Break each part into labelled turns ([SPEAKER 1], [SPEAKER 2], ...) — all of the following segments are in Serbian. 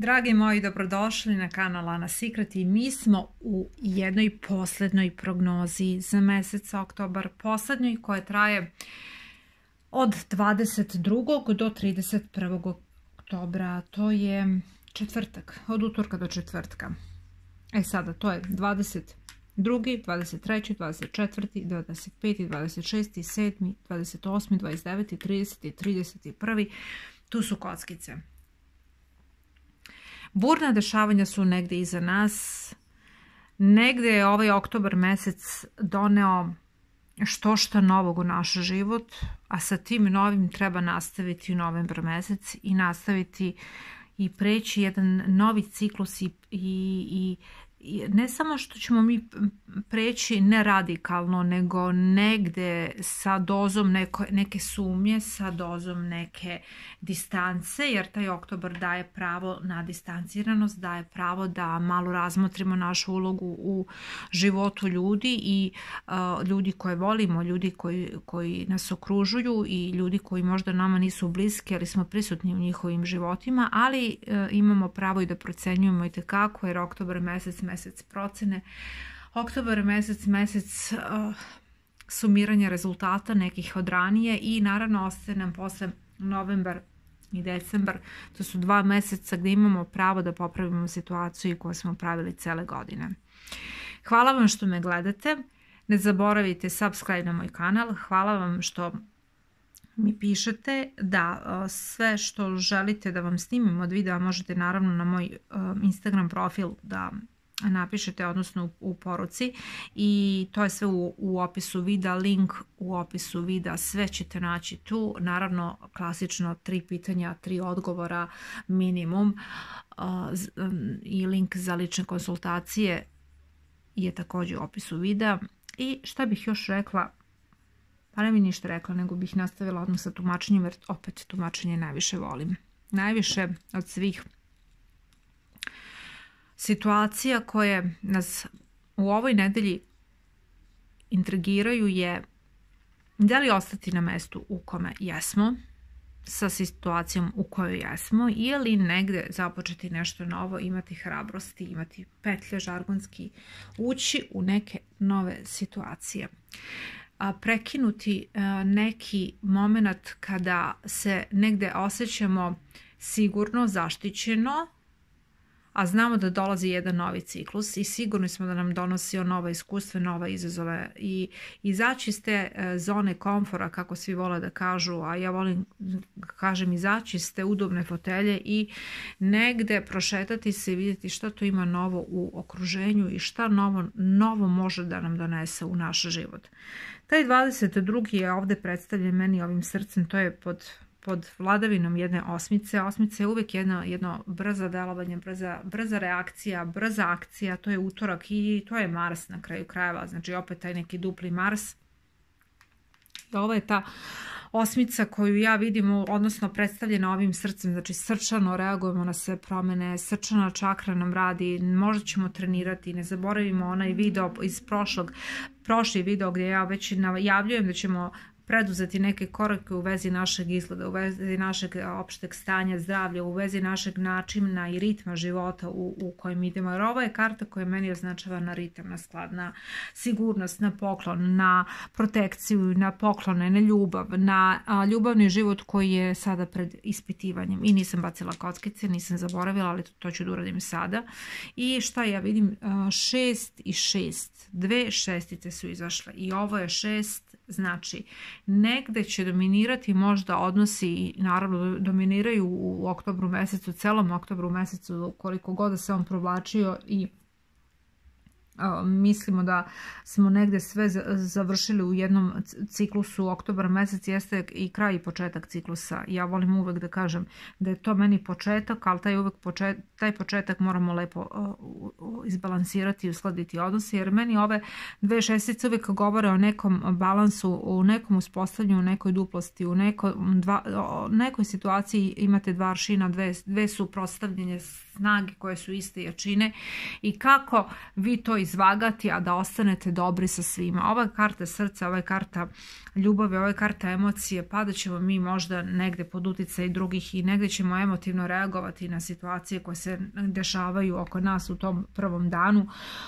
[SPEAKER 1] Dragi moji, dobrodošli na kanal Ana Secret i mi smo u jednoj poslednjoj prognozi za mesec oktobar, poslednjoj koja traje od 22. do 31. oktobra, to je četvrtak, od utorka do četvrtka. Sada to je 22., 23., 24., 25., 26., 7., 28., 29., 30. i 31. Tu su kockice. Burna dešavanja su negde iza nas. Negde je ovaj oktobar mesec doneo što novog u naš život, a sa tim novim treba nastaviti u novembar mesec i nastaviti i preći jedan novi ciklus i ne samo što ćemo mi preći ne radikalno, nego negde sa dozom neke sumnje, sa dozom neke distance, jer taj oktobar daje pravo na distanciranost, daje pravo da malo razmotrimo našu ulogu u životu ljudi i ljudi koje volimo, ljudi koji nas okružuju i ljudi koji možda nama nisu bliski, ali smo prisutni u njihovim životima, ali imamo pravo i da procenjujemo i tekako, jer oktobar mesec procene, oktobar mesec sumiranja rezultata nekih od ranije i naravno ostaje nam posle novembar i decembar. To su 2 meseca gdje imamo pravo da popravimo situaciju koju smo pravili cele godine. Hvala vam što me gledate. Ne zaboravite subscribe na moj kanal. Hvala vam što mi pišete da sve što želite da vam snimim od videa možete naravno na moj Instagram profil da napišete, odnosno u poruci, i to je sve u opisu videa, link u opisu videa, sve ćete naći tu. Naravno, klasično 3 pitanja, 3 odgovora minimum i link za lične konsultacije je također u opisu videa. I šta bih još rekla? Pa ne bih ništa rekla, nego bih nastavila odmah sa tumačenjem, jer opet tumačenje najviše volim. Najviše od svih situacija koje nas u ovoj nedelji intrigiraju je da li ostati na mestu u kome jesmo, sa situacijom u kojoj jesmo, ili negde započeti nešto novo, imati hrabrosti, imati petlje žargonski, ući u neke nove situacije. Prekinuti neki moment kada se negde osjećamo sigurno, zaštićeno, a znamo da dolazi jedan novi ciklus i sigurni smo da nam donosi nova iskustva, nove izazove, i izaći iz te zone komfora, kako svi vole da kažu, a ja volim da kažem izaći iz te udobne fotelje i negde prošetati se i vidjeti šta to ima novo u okruženju i šta novo može da nam donese u naš život. Taj 22. je ovde predstavljen meni ovim srcem, to je pod vladavinom jedne osmice. Osmica je uvijek jedno brzo delovanje, brza reakcija, brza akcija. To je utorak i to je Mars na kraju krajeva, znači opet taj neki dupli Mars. I ovo je ta osmica koju ja vidim, odnosno predstavljena ovim srcem, znači srčano reagujemo na sve promene, srčana čakra nam radi, možda ćemo trenirati, ne zaboravimo onaj video iz prošli video gdje ja već najavljujem da ćemo preduzeti neke korake u vezi našeg izgleda, u vezi našeg opšteg stanja zdravlja, u vezi našeg načina i ritma života u kojem idemo. Jer ovo je karta koja meni označava na ritam, na sklad, na sigurnost, na poklon, na protekciju, na poklone, na ljubav, na ljubavni život koji je sada pred ispitivanjem. I nisam bacila kockice, nisam zaboravila, ali to ću da uradim sada. I šta ja vidim? 6 i 6. 2 šestice su izašle i ovo je 6. Znači, negde će dominirati možda odnosi, i naravno dominiraju u oktobru mesecu, celom oktobru mesecu, koliko god da se on provlačio, i mislimo da smo negde sve završili u jednom ciklusu. Oktobar mesec jeste i kraj i početak ciklusa. Ja volim uvek da kažem da je to meni početak, ali taj početak moramo lepo izbalansirati i uskladiti odnose, jer meni ove 2 šestice uvek govore o nekom balansu, u nekom uspostavljanju, u nekoj duplosti, u nekoj situaciji imate 2 aršina, dve suprotstavljene snage koje su iste jačine, i kako vi to izvagati, a da ostanete dobri sa svima. Ova je karta srca, ova je karta ljubavi, ova je karta emocije, padat ćemo mi možda negde pod uticaj drugih i negde ćemo emotivno reagovati na situacije koje se dešavaju oko nas u tom prvom danu,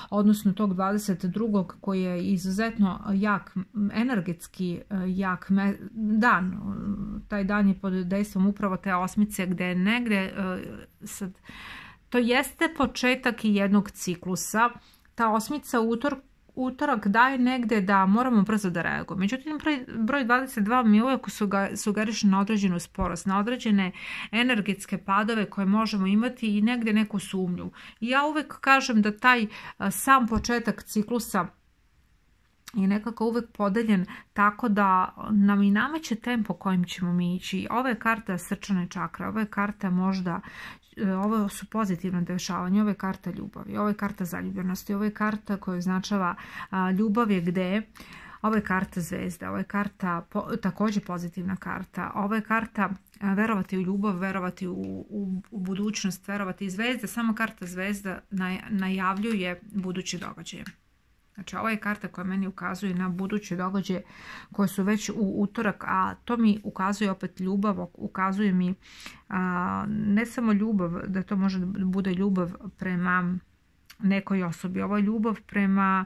[SPEAKER 1] odnosno tog 22. koji je izuzetno jak, energetski jak dan. Taj dan je pod dejstvom upravo te osmice gde je negde sad, to jeste početak i jednog ciklusa. Ta osmica utorak daje negde da moramo brzo da reagujemo. Međutim, broj 22 mi uvijek sugeriše na određenu sporost, na određene energetske padove koje možemo imati i negde neku sumnju. I ja uvijek kažem da taj sam početak ciklusa je nekako uvijek podeljen tako da nam i nameće tempo kojim ćemo mi ići. Ovo je karta srčane čakre, ovo je karta možda, ovo su pozitivne dešavanja, ovo je karta ljubavi, ovo je karta zaljubljenosti, ovo je karta koja označava ljubav je gde, ovo je karta zvezda, ovo je karta također pozitivna karta, ovo je karta verovati u ljubav, verovati u budućnost, verovati i zvezda, samo karta zvezda najavljuje budući događaje. Znači, ovo je karta koja meni ukazuje na buduće događaje koje su već u utorak, a to mi ukazuje opet ljubav, ukazuje mi ne samo ljubav, da to može da bude ljubav prema nekoj osobi, ovo je ljubav prema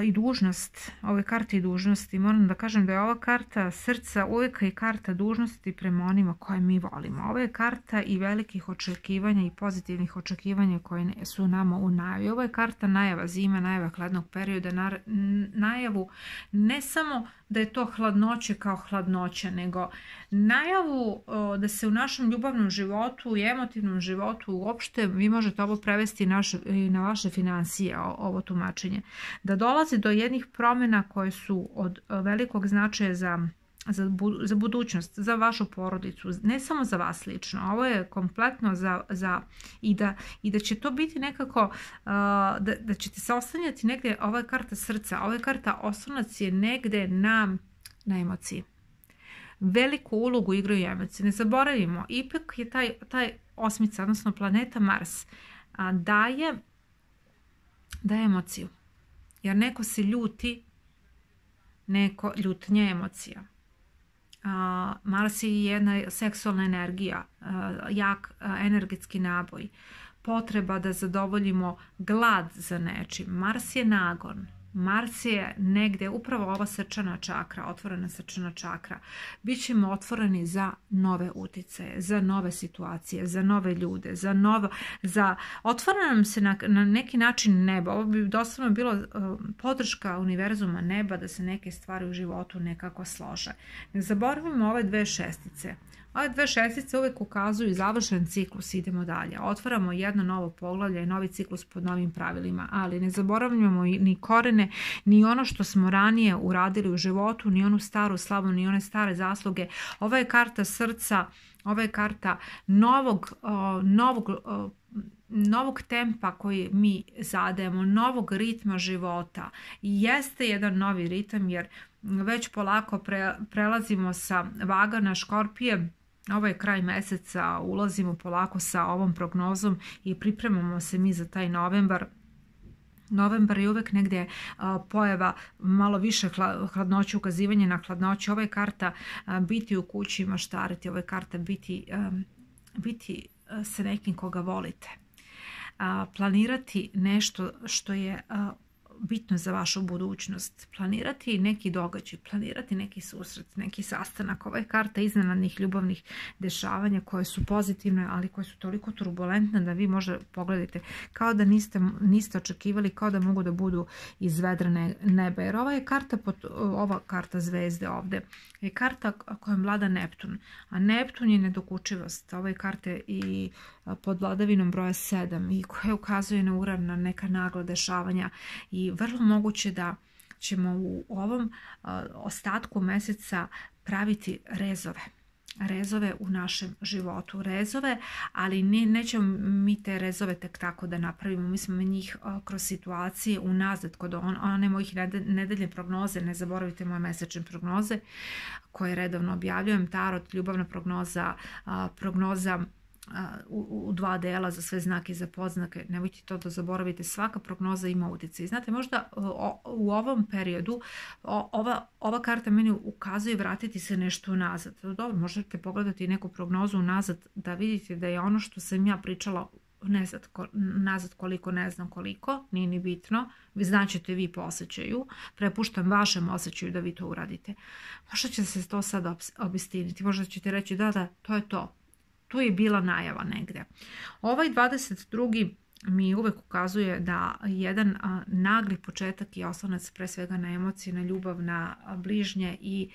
[SPEAKER 1] i dužnost, ove karte i dužnosti. Moram da kažem da je ova karta srca uvijek i karta dužnosti prema onima koje mi volimo. Ovo je karta i velikih očekivanja i pozitivnih očekivanja koje su nama u najavi. Ovo je karta najava zime, najava hladnog perioda, najavu ne samo da je to hladnoće kao hladnoća, nego najavu da se u našem ljubavnom životu i emotivnom životu uopšte, vi možete ovo prevesti na vaše financije, ovo tumačenje, da dolazi do jednih promjena koje su od velikog značaja za budućnost, za vašu porodicu, ne samo za vas lično. Ovo je kompletno i da će to biti nekako, da ćete se oslanjati negdje, ova je karta srca, ova je karta oslonac je negdje na emociji. Veliku ulogu igraju emocije. Ne zaboravimo, ipak je taj osmica, odnosno planeta Mars, daje emociju. Jer neko se ljuti, ljutnja emocija. Mars je jedna seksualna energija, jak energetski naboj, potreba da zadovoljimo glad za nečim. Mars je nagon. Mars je negde, upravo ova srčana čakra, otvorena srčana čakra. Bićemo otvoreni za nove uticaje, za nove situacije, za nove ljude, otvara nam se na neki način nebo. Ovo bi doslovno bilo podrška univerzuma neba da se neke stvari u životu nekako slože. Ne zaboravimo ove dve šestice. Ove dve šestice uvijek ukazuju završen ciklus, idemo dalje. Otvaramo jedno novo poglavlje i novi ciklus pod novim pravilima, ali ne zaboravljamo ni korene, ni ono što smo ranije uradili u životu, ni onu staru slavu, ni one stare zasluge. Ova je karta srca, ova je karta novog tempa koji mi zadajemo, novog ritma života. I jeste jedan novi ritam jer već polako prelazimo sa Vaga na Škorpije. Ovo je kraj meseca, ulazimo polako sa ovom prognozom i pripremamo se mi za taj novembar. Novembar je uvek negdje pojava malo više hladnoće, ukazivanje na hladnoću. Ovo je karta biti u kući i maštariti, ovo je karta biti sa nekim koga volite. Planirati nešto što je bitno za vašu budućnost, planirati neki događaj, planirati neki susret, neki sastanak. Ova je karta iznenadnih ljubavnih dešavanja koje su pozitivne, ali koje su toliko turbulentne da vi možda pogledate kao da niste očekivali, kao da mogu da budu iz vedra neba. Jer ova karta zvezde ovde je karta kojom vlada Neptun, a Neptun je nedokučivost. Ova je karta i pod vladavinom broja 7 i koja ukazuje na uran, na neka nagla dešavanja i vrlo moguće da ćemo u ovom ostatku meseca praviti rezove u našem životu, ali nećemo mi te rezove tek tako da napravimo, mi smo njih kroz situacije unazad, kod one mojih nedeljne prognoze, ne zaboravite moje mesečne prognoze koje redovno objavljujem, tarot, ljubavna prognoza, prognoza u dva dela za sve znake i za podznake. Nemojte to da zaboravite, svaka prognoza ima utjecaj. Znate, možda u ovom periodu ova karta meni ukazuje vratiti se nešto unazad. Dobro, možete pogledati neku prognozu unazad da vidite da je ono što sam ja pričala nazad koliko, ne znam koliko, nije ni bitno, vi znaćete vi po osjećaju, prepuštam vašem osjećaju da vi to uradite. Možda će se to sad obistiniti, možda ćete reći da, to je to. Tu je bila najava negde. Ovaj 22. mi uvek ukazuje da jedan nagli početak i oslonac pre svega na emocije, na ljubav, na bližnje i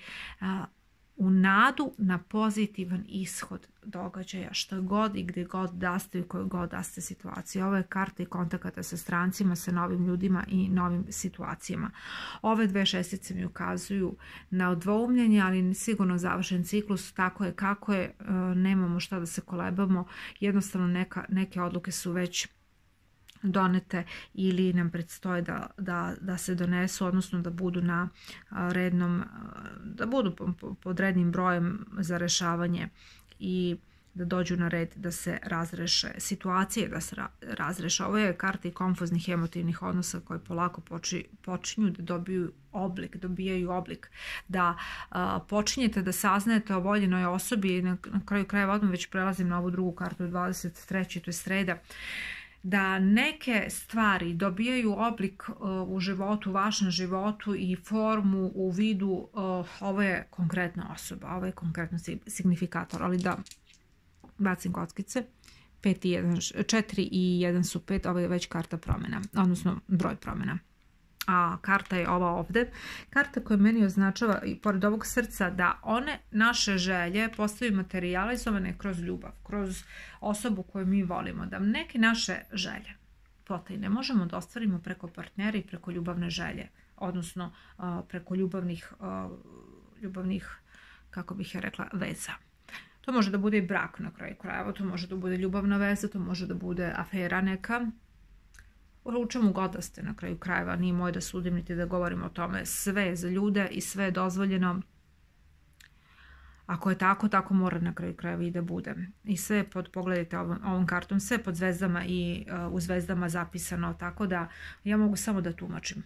[SPEAKER 1] u nadu na pozitivan ishod događaja, što god i gdje god da ste i u kojoj god da ste situaciji. Ovo je karta i kontakata sa strancima, sa novim ljudima i novim situacijama. Ove dve šestice mi ukazuju na odvoumljenje, ali sigurno završen ciklus, tako je kako je, nemamo šta da se kolebamo, jednostavno neke odluke su već donete ili nam predstoje da se donesu, odnosno da budu na rednom, da budu pod rednim brojem za rešavanje i da dođu na red da se razreše situacije, da se razreše. Ovo je karta i konfuznih emotivnih odnosa koje polako počinju da dobijaju oblik, da počinjete da saznajete o voljenoj osobi i na kraju krajeva odmah već prelazim na ovu drugu kartu 23. to je sreda, da neke stvari dobijaju oblik u životu, u vašem životu i formu u vidu ovo je konkretna osoba, ovo je konkretno signifikator, ali da bacim kockice, 4 i 1 su 5, ovo je već karta promjena, odnosno broj promjena. A karta je ova ovde, karta koja meni označava i pored ovog srca da one naše želje postaju materializovane kroz ljubav, kroz osobu koju mi volimo, da neke naše želje potajne možemo da ostvarimo preko partnera i preko ljubavne želje, odnosno preko ljubavnih, kako bih ja rekla, veza. To može da bude i brak na kraju krajeva, to može da bude ljubavna veza, to može da bude afera neka, u čemu god da ste na kraju krajeva, nije moje da sudim niti da govorim o tome, sve je za ljude i sve je dozvoljeno. Ako je tako, tako mora na kraju krajeva i da bude. I sve je pogledajte ovom kartom, sve je pod zvezdama i u zvezdama zapisano, tako da ja mogu samo da tumačim.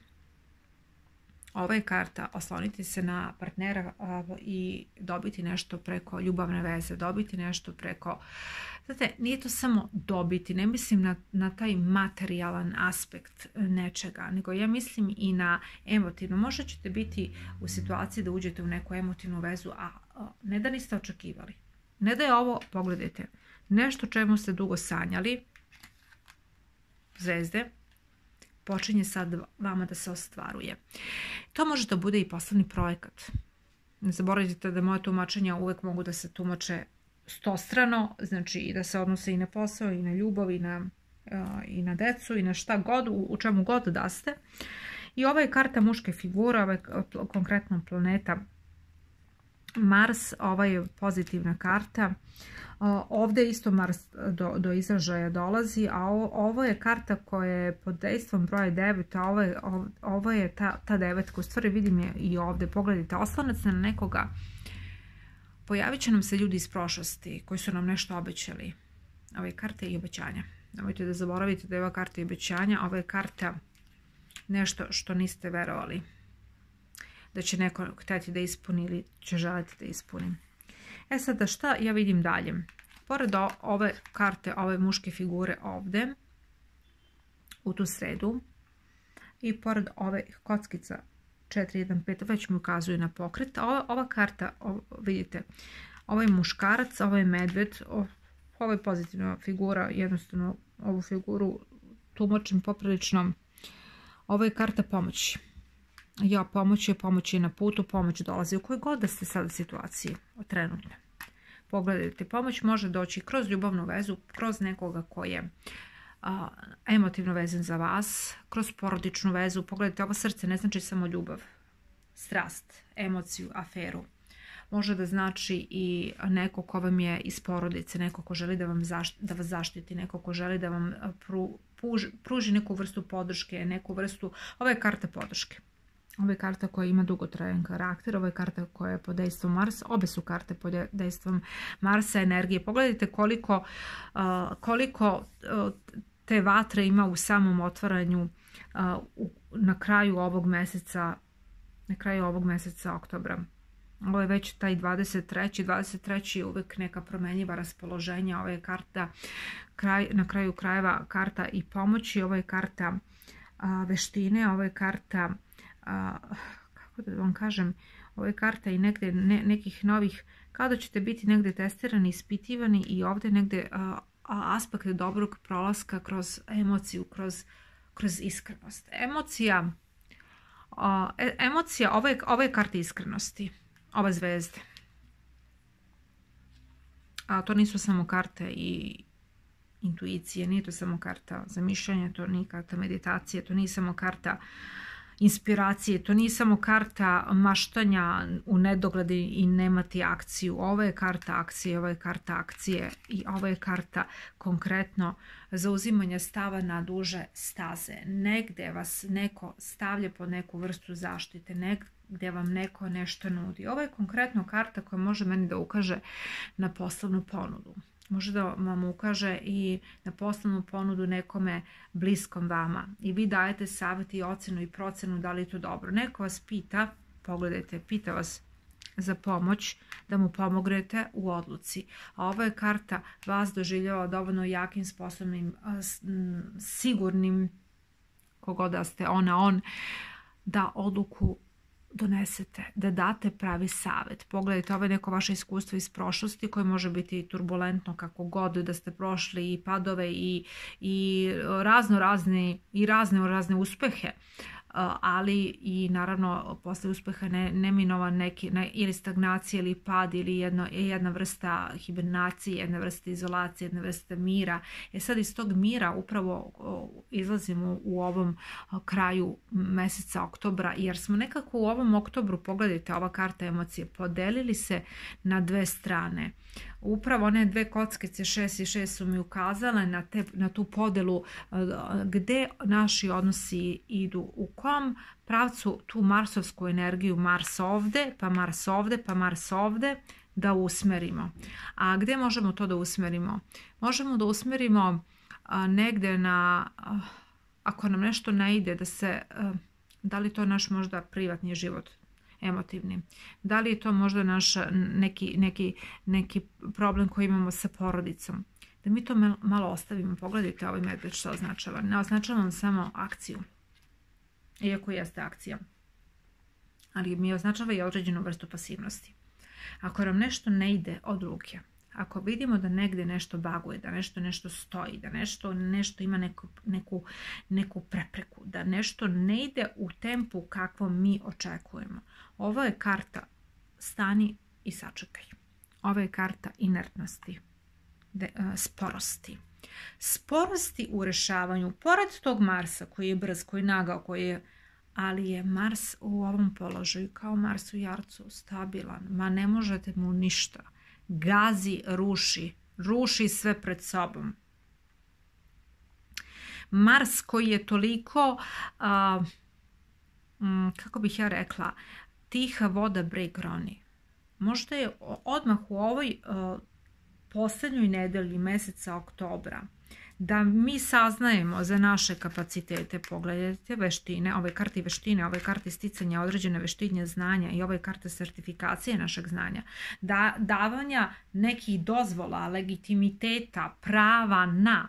[SPEAKER 1] Ova je karta osloniti se na partnera i dobiti nešto preko ljubavne veze, dobiti nešto preko... Znate, nije to samo dobiti, ne mislim na taj materijalan aspekt nečega, nego ja mislim i na emotivno. Možda ćete biti u situaciji da uđete u neku emotivnu vezu, a ne da niste očekivali. Ne da je ovo, pogledajte, nešto čemu ste dugo sanjali, zvezde, počinje sad vama da se ostvaruje. To može da bude i poslovni projekat. Ne zaboravite da moje tumačenja uvek mogu da se tumače stostrano, znači i da se odnose i na posao, i na ljubav, i na decu, i na šta god, u čemu god da ste. I ova je karta muške figure, ova je konkretno planeta Mars, ova je pozitivna karta. Ovdje isto Mars do izražaja dolazi, a ovo je karta koja je pod dejstvom broja 9, a ovo je ta devetka, u stvari vidim je i ovdje, pogledajte, oslonac na nekoga, pojavit će nam se ljudi iz prošlosti koji su nam nešto obećali. Ovo je karta i obećanja. Nemojte da zaboravite da je ova karta i obećanja, ovo je karta nešto što niste verovali da će neko htjeti da ispuni ili će želiti da ispuni. E sada šta ja vidim dalje? Pored ove karte, ove muške figure ovdje, u tu sredu, i pored ove kockica 4-1-5, već mi ukazuje na pokret. Ova karta, vidite, ovo je muškarac, ovo je medved, ovo je pozitivna figura, jednostavno ovu figuru tumačim poprilično. Ovo je karta pomoći. Ja, pomoć je na putu, pomoć dolazi u kojoj god da ste sada situaciji trenutno. Pogledajte, pomoć može doći kroz ljubavnu vezu, kroz nekoga koji je emotivno vezan za vas, kroz porodičnu vezu. Pogledajte, ovo srce ne znači samo ljubav, strast, emociju, aferu. Može da znači i neko ko vam je iz porodice, neko ko želi da vas zaštiti, neko ko želi da vam pruži neku vrstu podrške, neku vrstu, ovo je karta podrške. Ovo je karta koja ima dugotrajan karakter, ovo je karta koja je pod dejstvom Marsa, obe su karte pod dejstvom Marsa energije. Pogledajte koliko te vatre ima u samom otvaranju na kraju ovog meseca oktobra. Ovo je već taj 23. je uvijek neka promjenjiva raspoloženja. Ovo je karta na kraju krajeva karta i pomoći, ovo je karta veštine, ovo je karta kako da vam kažem, ovo je karta i negdje nekih novih, kada ćete biti negdje testirani, ispitivani i ovdje negdje aspekt dobrog prolaska kroz emociju, kroz iskrenost. Emocija, ovo je karta iskrenosti, ova zvezde. A to nisu samo karte i intuicije, nije to samo karta zamišljanja, to nije karta meditacije, to nije samo karta inspiracije, to nije samo karta maštanja u nedogled i nemati akciju. Ovo je karta akcije, ovo je karta akcije i ovo je karta konkretno zauzimanja stava na duže staze. Negdje vas neko stavlja pod neku vrstu zaštite, negdje vam neko nešto nudi. Ovo je konkretno karta koja može meni da ukaže na poslovnu ponudu. Može da vam ukaže i na poslovnu ponudu nekome bliskom vama. I vi dajete savjet i ocjenu i procjenu da li je to dobro. Neko vas pita, pogledajte, pita vas za pomoć, da mu pomognete u odluci. A ovo je karta vas doživljava dovoljno jakim, sposobnim, sigurnim, kogod da ste on, da odluku donesete, da date pravi savjet. Pogledajte, ovo je neko vaše iskustvo iz prošlosti koje može biti turbulentno kako god da ste prošli i padove i razne uspehe, ali i naravno posle uspeha neminovana neki ili stagnacija ili pad ili jedna vrsta hibernacije, jedna vrsta izolacije, jedna vrsta mira. Sad iz tog mira upravo izlazimo u ovom kraju meseca oktobra, jer smo nekako u ovom oktobru, pogledajte, ova karta emocije, podelili se na dve strane. Upravo one dve kockice 6 i 6 su mi ukazale na tu podelu gde naši odnosi idu, u kom pravcu tu marsovsku energiju, Mars ovde, pa Mars ovde, pa Mars ovde, da usmerimo. A gde možemo to da usmerimo? Možemo da usmerimo negde ako nam nešto ne ide, da li to naš možda privatni život, emotivni. Da li je to možda naš neki problem koji imamo sa porodicom. Da mi to malo ostavimo. Pogledajte ovaj medved što označava. Ne označava samo akciju. Iako jeste akcija. Ali mi označava i određenu vrstu pasivnosti. Ako nam nešto ne ide od ruke, ako vidimo da negdje nešto baguje, da nešto stoji, da nešto ima neku prepreku, da nešto ne ide u tempu kakvo mi očekujemo. Ovo je karta stani i sačekaj. Ovo je karta inertnosti, sporosti. Sporosti u rešavanju, pored tog Marsa koji je brz, koji je nagao, ali je Mars u ovom položaju kao Mars u Jarcu, stabilan, ma ne možete mu ništa. Gazi, ruši sve pred sobom. Mars koji je toliko, kako bih ja rekla, tiha voda breg roni. Možda je odmah u ovoj posljednjoj nedelji meseca oktobra da mi saznajemo za naše kapacitete. Pogledajte veštine, ove karte veštine, ove karte sticanja određene veštine znanja i ove karte sertifikacije našeg znanja, davanja nekih dozvola, legitimiteta, prava na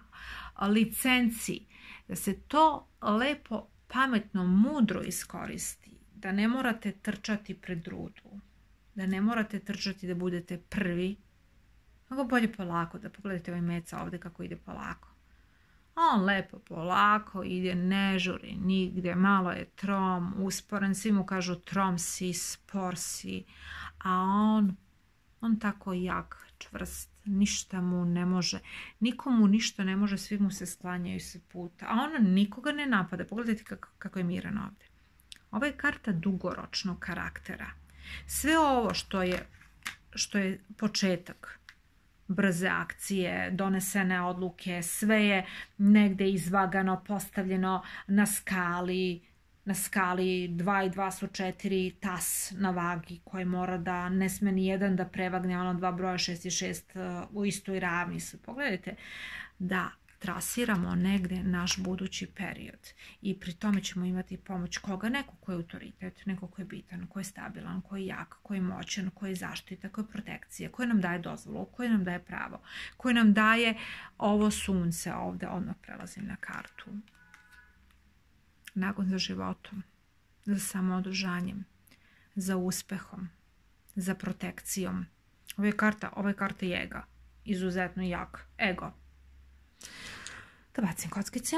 [SPEAKER 1] licenci, da se to lepo, pametno, mudro iskoristi, da ne morate trčati pred rudu, da ne morate trčati da budete prvi, mnogo bolje polako, da pogledajte ovaj meca ovdje kako ide polako. On lepo polako ide, ne žuri nigdje, malo je trom, usporen, svi mu kažu trom si, spor si, a on tako jak, čvrst, ništa mu ne može, nikomu ništa ne može, svi mu se sklanjaju se puta, a on nikoga ne napada. Pogledajte kako je miran ovdje. Ovo je karta dugoročnog karaktera. Sve ovo što je početak, brze akcije, donesene odluke, sve je negdje izvagano, postavljeno na skali, na skali 2 i 2 su 4 tas na vagi koji mora da ne sme ni jedan da prevagne ono 2 broja 6 i 6 u istoj ravni su. Pogledajte da trasiramo negde naš budući period i pri tome ćemo imati pomoć koga? Neko ko je autoritet, neko ko je bitan, ko je stabilan, ko je jak, ko je moćan, ko je zaštita, ko je protekcija, koji nam daje dozvolu, koji nam daje pravo, koji nam daje ovo sunce ovde. Odmah prelazim na kartu. Nagon za životom, za samoodržanjem, za uspehom, za protekcijom. Ovo je karta ega, izuzetno jak ego. Da bacim kockice.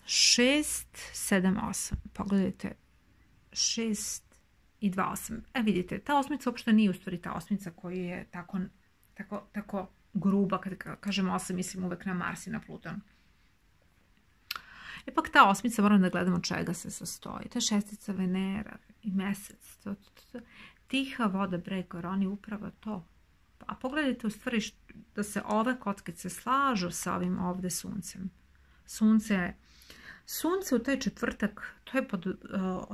[SPEAKER 1] 6, 7, 8. Pogledajte. 6 i 2, 8. Vidite, ta osmica uopšte nije u stvari ta osmica koja je tako gruba. Kad kažemo 8, mislim uvek na Mars i na Pluton. Ipak ta osmica, moram da gledamo čega se sastoji. To je šestica Venera i mesec. Tiha voda, breg, oni upravo to. A pogledajte u stvari da se ove kockice slažu sa ovim ovde suncem. Sunce u taj četvrtak, to je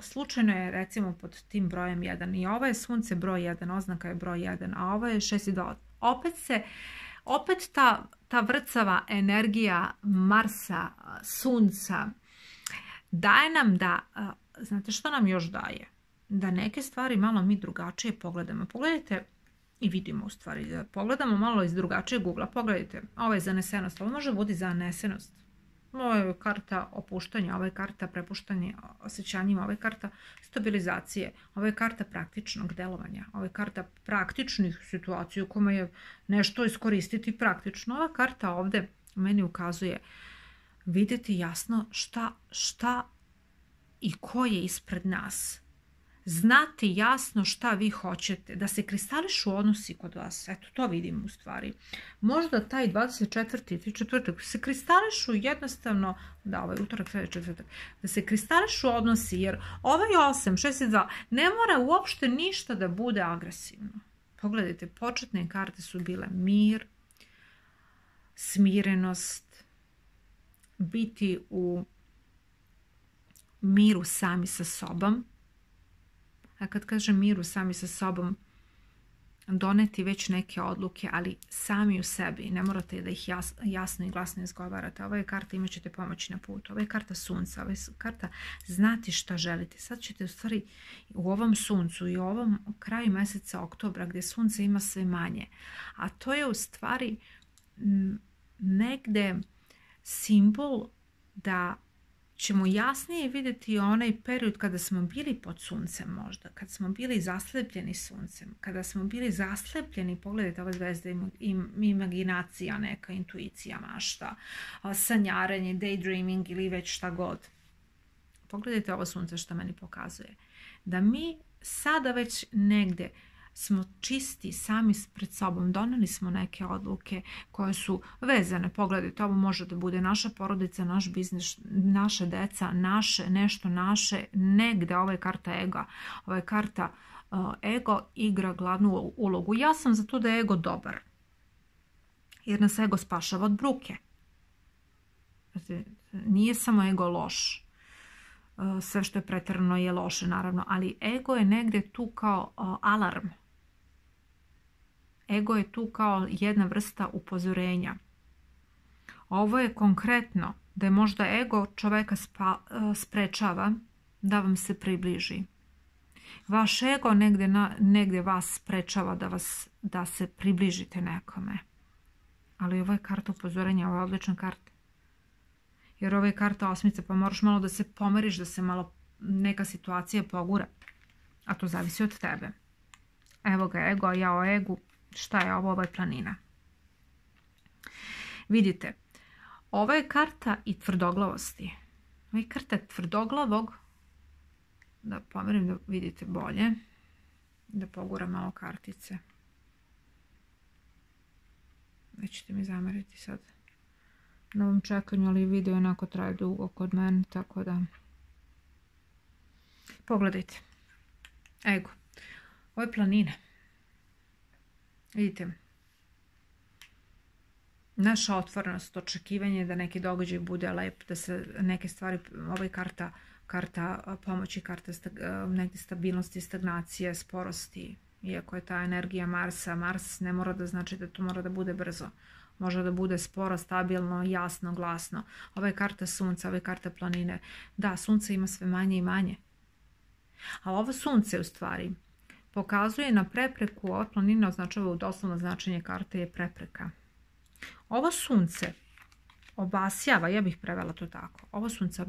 [SPEAKER 1] slučajno je recimo pod tim brojem 1. I ovo je sunce broj 1, oznaka je broj 1, a ovo je 6 i 2. Opet ta vrcava energija Marsa, sunca, daje nam da, znate što nam još daje? Da neke stvari malo mi drugačije pogledamo. Pogledajte i vidimo u stvari, da pogledamo malo iz drugačijeg ugla. Pogledajte, ovo je zanesenost, ovo može biti zanesenost. Ovo je karta opuštanja, ovo je karta prepuštanja osjećanjima, ovo je karta stabilizacije, ovo je karta praktičnog delovanja, ovo je karta praktičnih situacija u kojima je nešto iskoristiti praktično. Ova karta ovde meni ukazuje vidjeti jasno šta i ko je ispred nas. Znati jasno šta vi hoćete, da se kristališu odnosi kod vas, eto to vidim u stvari. Možda taj 24. četvrtak se kristališu jednostavno, da ovaj utorak, sljedeći četvrtak, da se kristališu odnosi, jer ovaj 8, 6 i 2 ne mora uopšte ništa da bude agresivno. Pogledajte, početne karte su bile mir, smirenost, biti u miru sami sa sobom. A kad kažem miru sami sa sobom, doneti već neke odluke, ali sami u sebi. Ne morate da ih jasno i glasno izgovarate. Ovo je karta imat ćete pomoć na putu. Ovo je karta sunca. Ovo je karta znati šta želite. Sad ćete u stvari u ovom suncu i u ovom kraju meseca oktobra gdje sunce ima sve manje. A to je u stvari negde simbol da ćemo jasnije vidjeti onaj period kada smo bili pod suncem možda, kad smo bili zaslepljeni suncem, kada smo bili zaslepljeni, pogledajte ove zvezde, imaginacija, neka intuicija, mašta, sanjaranje, daydreaming ili već šta god. Pogledajte ovo sunce što meni pokazuje. Da mi sada već negde smo čisti sami pred sobom, doneli smo neke odluke koje su vezane, pogledajte, ovo može da bude naša porodica, naš biznis, naša deca, nešto naše, negde, ovo je karta ega, ovo je karta ego igra glavnu ulogu. Ja sam za to da je ego dobar, jer nas ego spašava od bruke. Nije samo ego loš, sve što je preterano je loše naravno, ali ego je negde tu kao alarm. Ego je tu kao jedna vrsta upozorenja. Ovo je konkretno da je možda ego čoveka sprečava da vam se približi. Vaš ego negde vas sprečava da se približite nekome. Ali ovo je karta upozorenja, ovo je odlična karta. Jer ovo je karta osmice, pa moraš malo da se pomeriš, da se malo neka situacija pogura. A to zavisi od tebe. Evo ga ego, a ja o egu. Šta je ovo? Ovo je planina. Vidite, ovo je karta i tvrdoglavosti. Ovo je karta tvrdoglavog. Da pomerim da vidite bolje. Da poguram malo kartice. Nećete mi zameriti sad na ovom čekanju, ali video onako traje dugo kod mene, tako da pogledajte. Ego. Ovo je planina. Vidite, naša otvorenost, očekivanje da neki događaj bude lep, da se neke stvari, ovo je karta pomoći, karta negdje stabilnosti, stagnacije, sporosti. Iako je ta energija Marsa, Mars ne mora da znači da to mora da bude brzo. Može da bude sporo, stabilno, jasno, glasno. Ova je karta sunca, ova je karta planine. Da, sunce ima sve manje i manje. A ovo sunce u stvari pokazuje na prepreku, ova planina označava u doslovno značenje karte je prepreka. Ovo sunce obasjava, ja bih prevela to tako, ovo sunce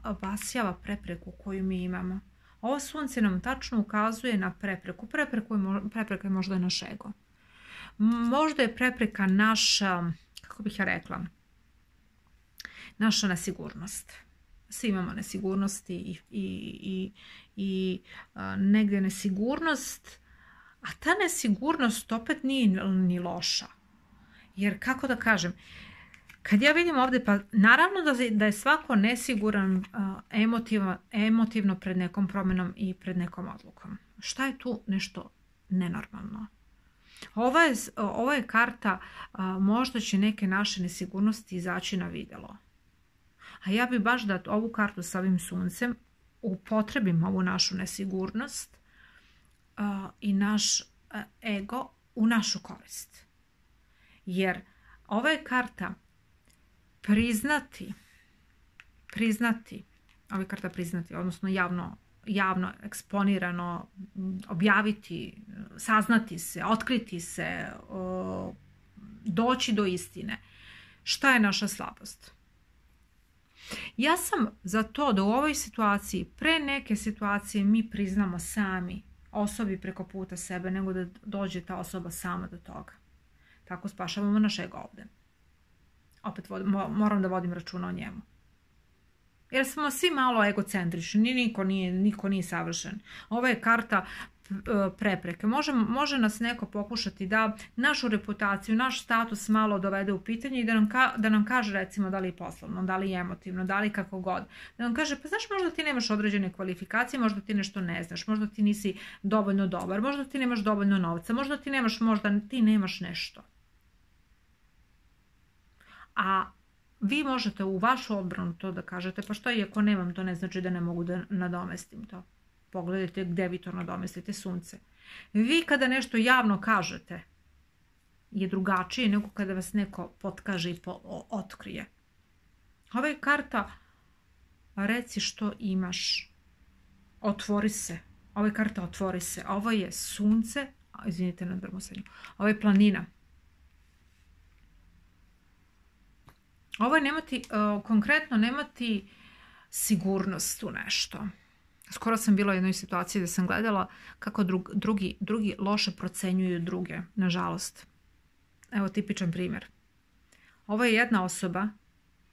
[SPEAKER 1] obasjava prepreku koju mi imamo. Ovo sunce nam tačno ukazuje na prepreku. Prepreka je možda naš ego. Možda je prepreka naša, kako bih ja rekla, naša nesigurnost. Svi imamo nesigurnosti i negdje nesigurnost, a ta nesigurnost opet nije ni loša. Jer kako da kažem, kad ja vidim ovdje, pa naravno da je svako nesiguran emotivno pred nekom promjenom i pred nekom odlukom. Šta je tu nešto nenormalno? Ovo je karta, možda će neke naše nesigurnosti izaći na vidjelo. A ja bi baš da ovu kartu sa ovim suncem upotrebim ovu našu nesigurnost i naš ego u našu korist. Jer ova je karta priznati, ova je karta priznati, odnosno javno eksponirano, objaviti, saznati se, otkriti se, doći do istine. Šta je naša slabost? Ja sam za to da u ovoj situaciji, pre neke situacije mi priznamo sami osobi preko puta sebe, nego da dođe ta osoba sama do toga. Tako spašavamo naš ego ovdje. Opet moram da vodim računa o njemu. Jer smo svi malo egocentrični, niko nije savršen. Ovo je karta prepreke. Može nas neko pokušati da našu reputaciju, naš status malo dovede u pitanje i da nam kaže recimo da li je poslovno, da li je emotivno, da li kako god. Da nam kaže, pa znaš, možda ti nemaš određene kvalifikacije, možda ti nešto ne znaš, možda ti nisi dovoljno dobar, možda ti nemaš dovoljno novca, možda ti nemaš nešto. A vi možete u vašu odbranu to da kažete, pa što i ako nemam, to ne znači da ne mogu da nadomestim to. Pogledajte gdje vi to nadomestite, sunce. Vi kada nešto javno kažete je drugačije nego kada vas neko potkaže i otkrije. Ova je karta reci što imaš. Otvori se. Ova je karta otvori se. Ovo je sunce. Izvinite na drmusanju. Ovo je planina. Ovo je konkretno nemati sigurnost u nešto. Skoro sam bila u jednoj situaciji da sam gledala kako drugi loše procenjuju druge, nažalost. Evo tipičan primjer. Ovo je jedna osoba,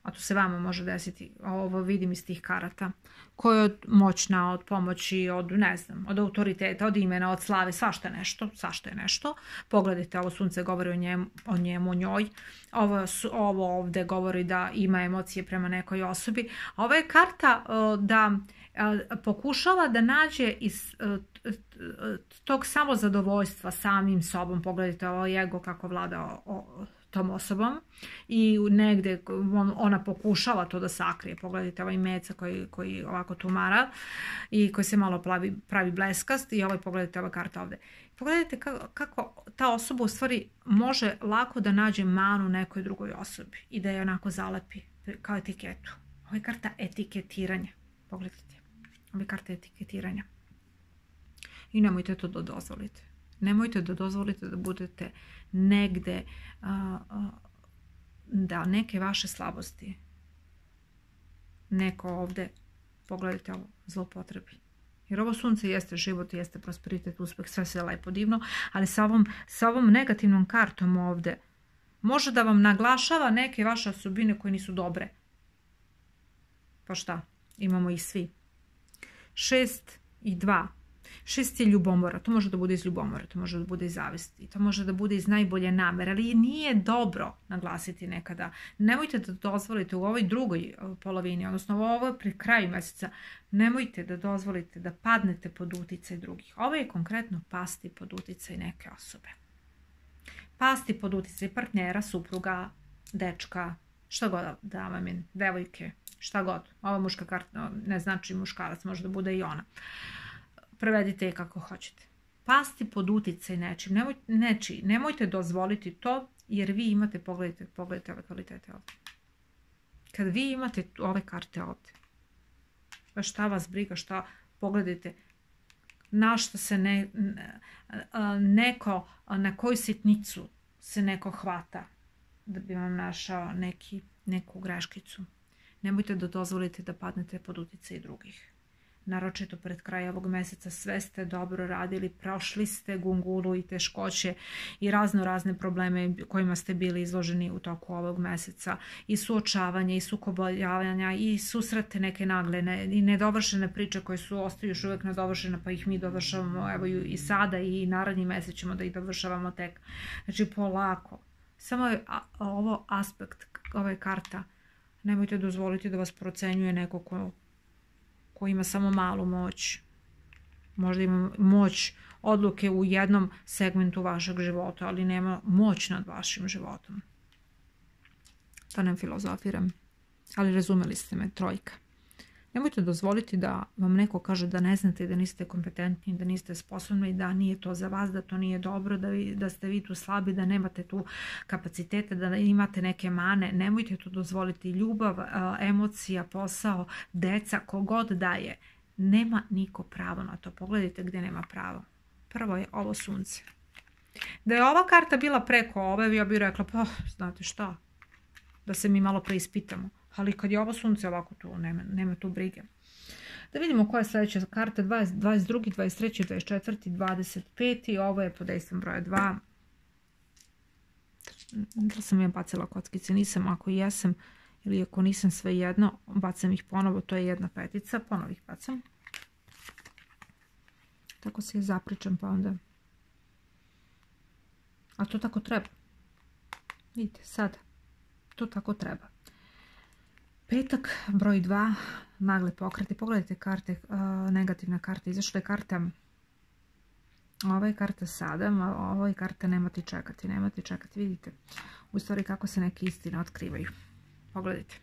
[SPEAKER 1] a to se vama može desiti, ovo vidim iz tih karata, koja je moćna, od pomoći, od autoriteta, od imena, od slave, svašta je nešto. Pogledajte, ovo sunce govori o njemu, o njoj. Ovo ovdje govori da ima emocije prema nekoj osobi. Ovo je karta da pokušava da nađe iz tog samozadovoljstva samim sobom. Pogledajte ovo ego kako vlada tom osobom i negdje ona pokušava to da sakrije. Pogledajte ovaj meca koji ovako tumara i koji se malo pravi bleskast i pogledajte ova karta ovdje. Pogledajte kako ta osoba u stvari može lako da nađe manu nekoj drugoj osobi i da je onako zalepi kao etiketu. Ovo je karta etiketiranja. Pogledajte. Ovo je karta etiketiranja. I nemojte to da dozvolite. Nemojte da dozvolite da budete negde, da neke vaše slabosti neko ovdje, pogledajte ovo, zlopotrebi. Jer ovo sunce jeste život, jeste prosperitet, uspeh, sve se lepo divno, ali sa ovom negativnom kartom ovdje može da vam naglašava neke vaše osobine koje nisu dobre. Pa šta? Imamo ih svi. 6 i 2. 6 je ljubomora, to može da bude iz ljubomora, to može da bude iz zavisti, to može da bude iz najbolje namere, ali nije dobro naglasiti nekada. Nemojte da dozvolite u ovoj drugoj polovini, odnosno u ovoj pri kraju mjeseca, nemojte da dozvolite da padnete pod uticaj drugih. Ovo je konkretno pasti pod uticaj neke osobe. Pasti pod uticaj partnera, supruga, dečka, što god da vam je, devojke, šta god. Ova muška karta ne znači muškarac, može da bude i ona. Prevedite je kako hoćete. Pasti pod uticaj nečiji. Nemojte dozvoliti to, jer vi imate, pogledajte ove kvalitete ovdje. Kad vi imate ove karte ovdje, šta vas briga, šta, pogledajte, na što se neko, na koju sitnicu se neko hvata da bi vam našao neku greškicu. Nemojte da dozvolite da padnete pod uticaj drugih. Naročito pred kraj ovog meseca sve ste dobro radili, prošli ste gungulu i teškoće i razne probleme kojima ste bili izloženi u toku ovog meseca, i suočavanje i sukobljavanja i susrete neke nagle i nedovršene priče koje ostaju još uvijek nedovršene, pa ih mi dovršavamo evo i sada i naredni mesec ćemo da ih dovršavamo tek. Znači polako. Samo je ovo aspekt, ova je karta. Nemojte dozvoliti da vas procenjuje neko ko ima samo malu moć. Možda ima moć odluke u jednom segmentu vašeg života, ali nema moć nad vašim životom. To ne filozofiram, ali razumeli ste me, trojka. Nemojte dozvoliti da vam neko kaže da ne znate, da niste kompetentni, da niste sposobni, da nije to za vas, da to nije dobro, da ste vi tu slabi, da nemate tu kapacitete, da imate neke mane. Nemojte to dozvoliti. Ljubav, emocija, posao, deca, kogod daje. Nema niko pravo na to. Pogledajte gdje nema pravo. Prvo je ovo sunce. Da je ova karta bila preko ove, ja bih rekla, pa znate šta, da se mi malo preispitamo. Ali kad je ovo sunce ovako tu, nema tu brige. Da vidimo koja je sljedeća karta. 22, 23, 24, 25. Ovo je pod dejstvom broja 2. Da sam ja bacila kockice? Nisam. Ako jesam ili ako nisam, sve jedno, bacam ih ponovo. To je jedna petica. Ponovo ih bacam. Tako se zapričam pa onda. A to tako treba. Vidite, sad. To tako treba. Petak, broj 2, nagle pokrete. Pogledajte karte, negativna karta. Izašla je karta, ova je karta sada, ova je karta nemate čekati. Vidite, u stvari kako se neke istine otkrivaju. Pogledajte.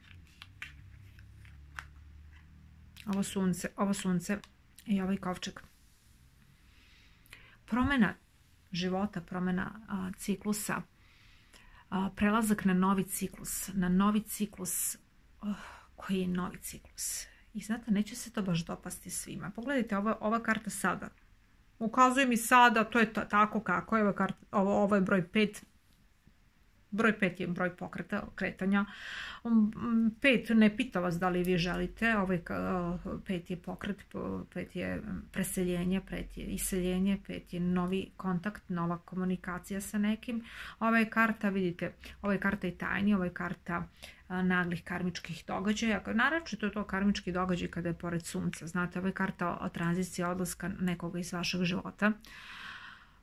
[SPEAKER 1] Ovo sunce i ovaj kovčeg. Promjena života, promjena ciklusa, prelazak na novi ciklus, koji je novi ciklus. I znate, neće se to baš dopasti svima. Pogledajte, ova karta sada. Ukazuje mi sada, to je tako kako je. Ovo je broj 5. Broj 5 je broj pokreta, kretanja. 5 ne pita vas da li vi želite. 5 je pokret, 5 je preseljenje, 5 je iseljenje, 5 je novi kontakt, nova komunikacija sa nekim. Ova je karta, vidite, ova je karta i tajni, ova je karta naglih karmičkih događaja. Naročito je to karmički događaj kada je pored sunca. Znate, ova je karta o tranziciji, odlaska nekoga iz vašeg života.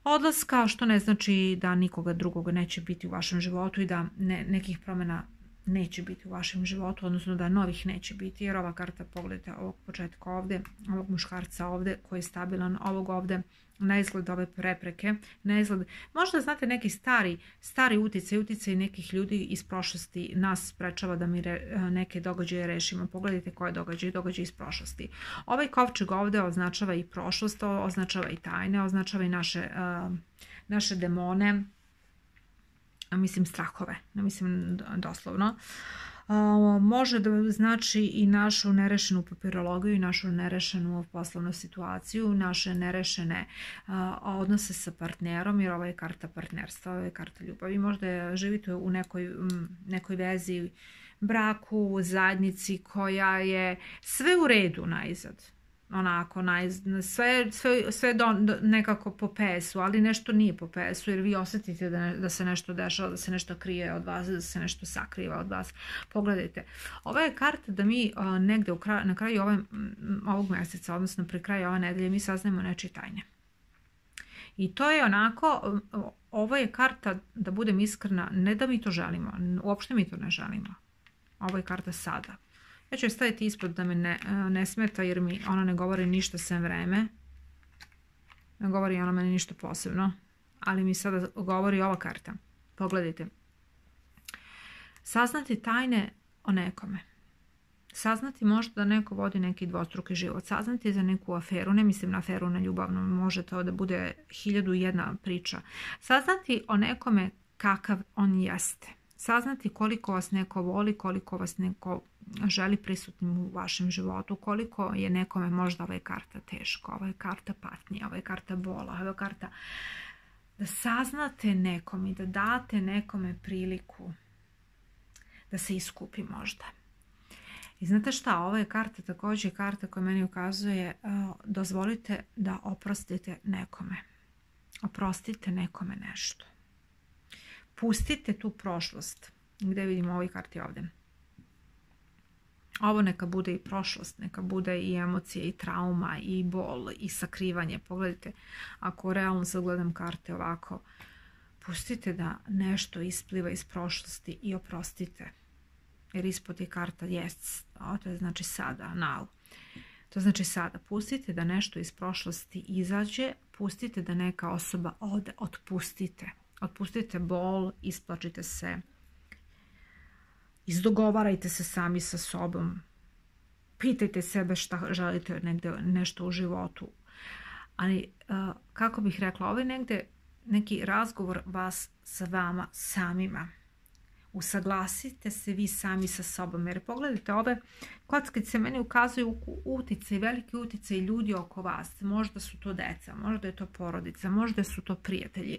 [SPEAKER 1] Odlaska, što ne znači da nikoga drugoga neće biti u vašem životu i da nekih promjena neće biti u vašem životu, odnosno da novih neće biti, jer ova karta, pogledajte ovog početka ovdje, ovog muškarca ovdje koji je stabilan, ovog ovdje, na izgled ove prepreke, na izgled, možda znate neki stari uticaj nekih ljudi iz prošlosti nas sprečava da mi neke događaje rešimo. Pogledajte koje događaje iz prošlosti. Ovaj kovčeg ovdje označava i prošlost, označava i tajne, označava i naše demone, mislim strahove, ne mislim doslovno. Može da znači i našu nerešenu papirologiju i našu nerešenu poslovnu situaciju, naše nerešene odnose sa partnerom, jer ovo je karta partnerstva, ovo je karta ljubavi. Možda živite u nekoj vezi, braku, zajednici koja je sve u redu najzad. Onako, sve nekako po PS-u, ali nešto nije po PS-u, jer vi osjetite da se nešto dešava, da se nešto krije od vas, da se nešto sakriva od vas. Pogledajte, ova je karta da mi negde na kraju ovog mjeseca, odnosno pri kraju ove nedelje, mi saznajemo nečije tajne. I to je onako, ovo je karta, da budem iskrena, ne da mi to želimo, uopšte mi to ne želimo. Ovo je karta sada. Ja ću je staviti ispod da me ne smeta, jer mi ona ne govori ništa sem vreme. Ne govori ona meni ništa posebno, ali mi sada govori ova karta. Pogledajte. Saznati tajne o nekome. Saznati možda da neko vodi neki dvostruki život. Saznati za neku aferu, ne mislim na aferu na ljubavnom, može to da bude 1001 priča. Saznati o nekome kakav on jeste. Saznati koliko vas neko voli, koliko vas neko želi prisutnim u vašem životu, koliko je nekome možda ova karta teška, ova je karta patnje, ova je karta bola, ova je karta... Da saznate nekom i da date nekome priliku da se iskupi možda. I znate šta, ova je karta također karta koja meni ukazuje, dozvolite da oprostite nekome. Oprostite nekome nešto. Pustite tu prošlost. Gdje vidimo ovoj karti ovdje? Ovo neka bude i prošlost, neka bude i emocije, i trauma, i bol, i sakrivanje. Pogledajte, ako realno sad gledam karte ovako, pustite da nešto ispliva iz prošlosti i oprostite. Jer ispod je karta yes, to je znači sada, now. To znači sada. Pustite da nešto iz prošlosti izađe, pustite da neka osoba ode, otpustite. Otpustite bol, isplačite se. Izdogovarajte se sami sa sobom. Pitajte sebe šta želite negdje, nešto u životu. Ali, kako bih rekla, ovo je negdje neki razgovor vas sa vama samima. Usaglasite se vi sami sa sobom. Jer pogledajte, ove kockice meni ukazuju uticaj, veliki uticaj ljudi oko vas. Možda su to deca, možda je to porodica, možda su to prijatelji.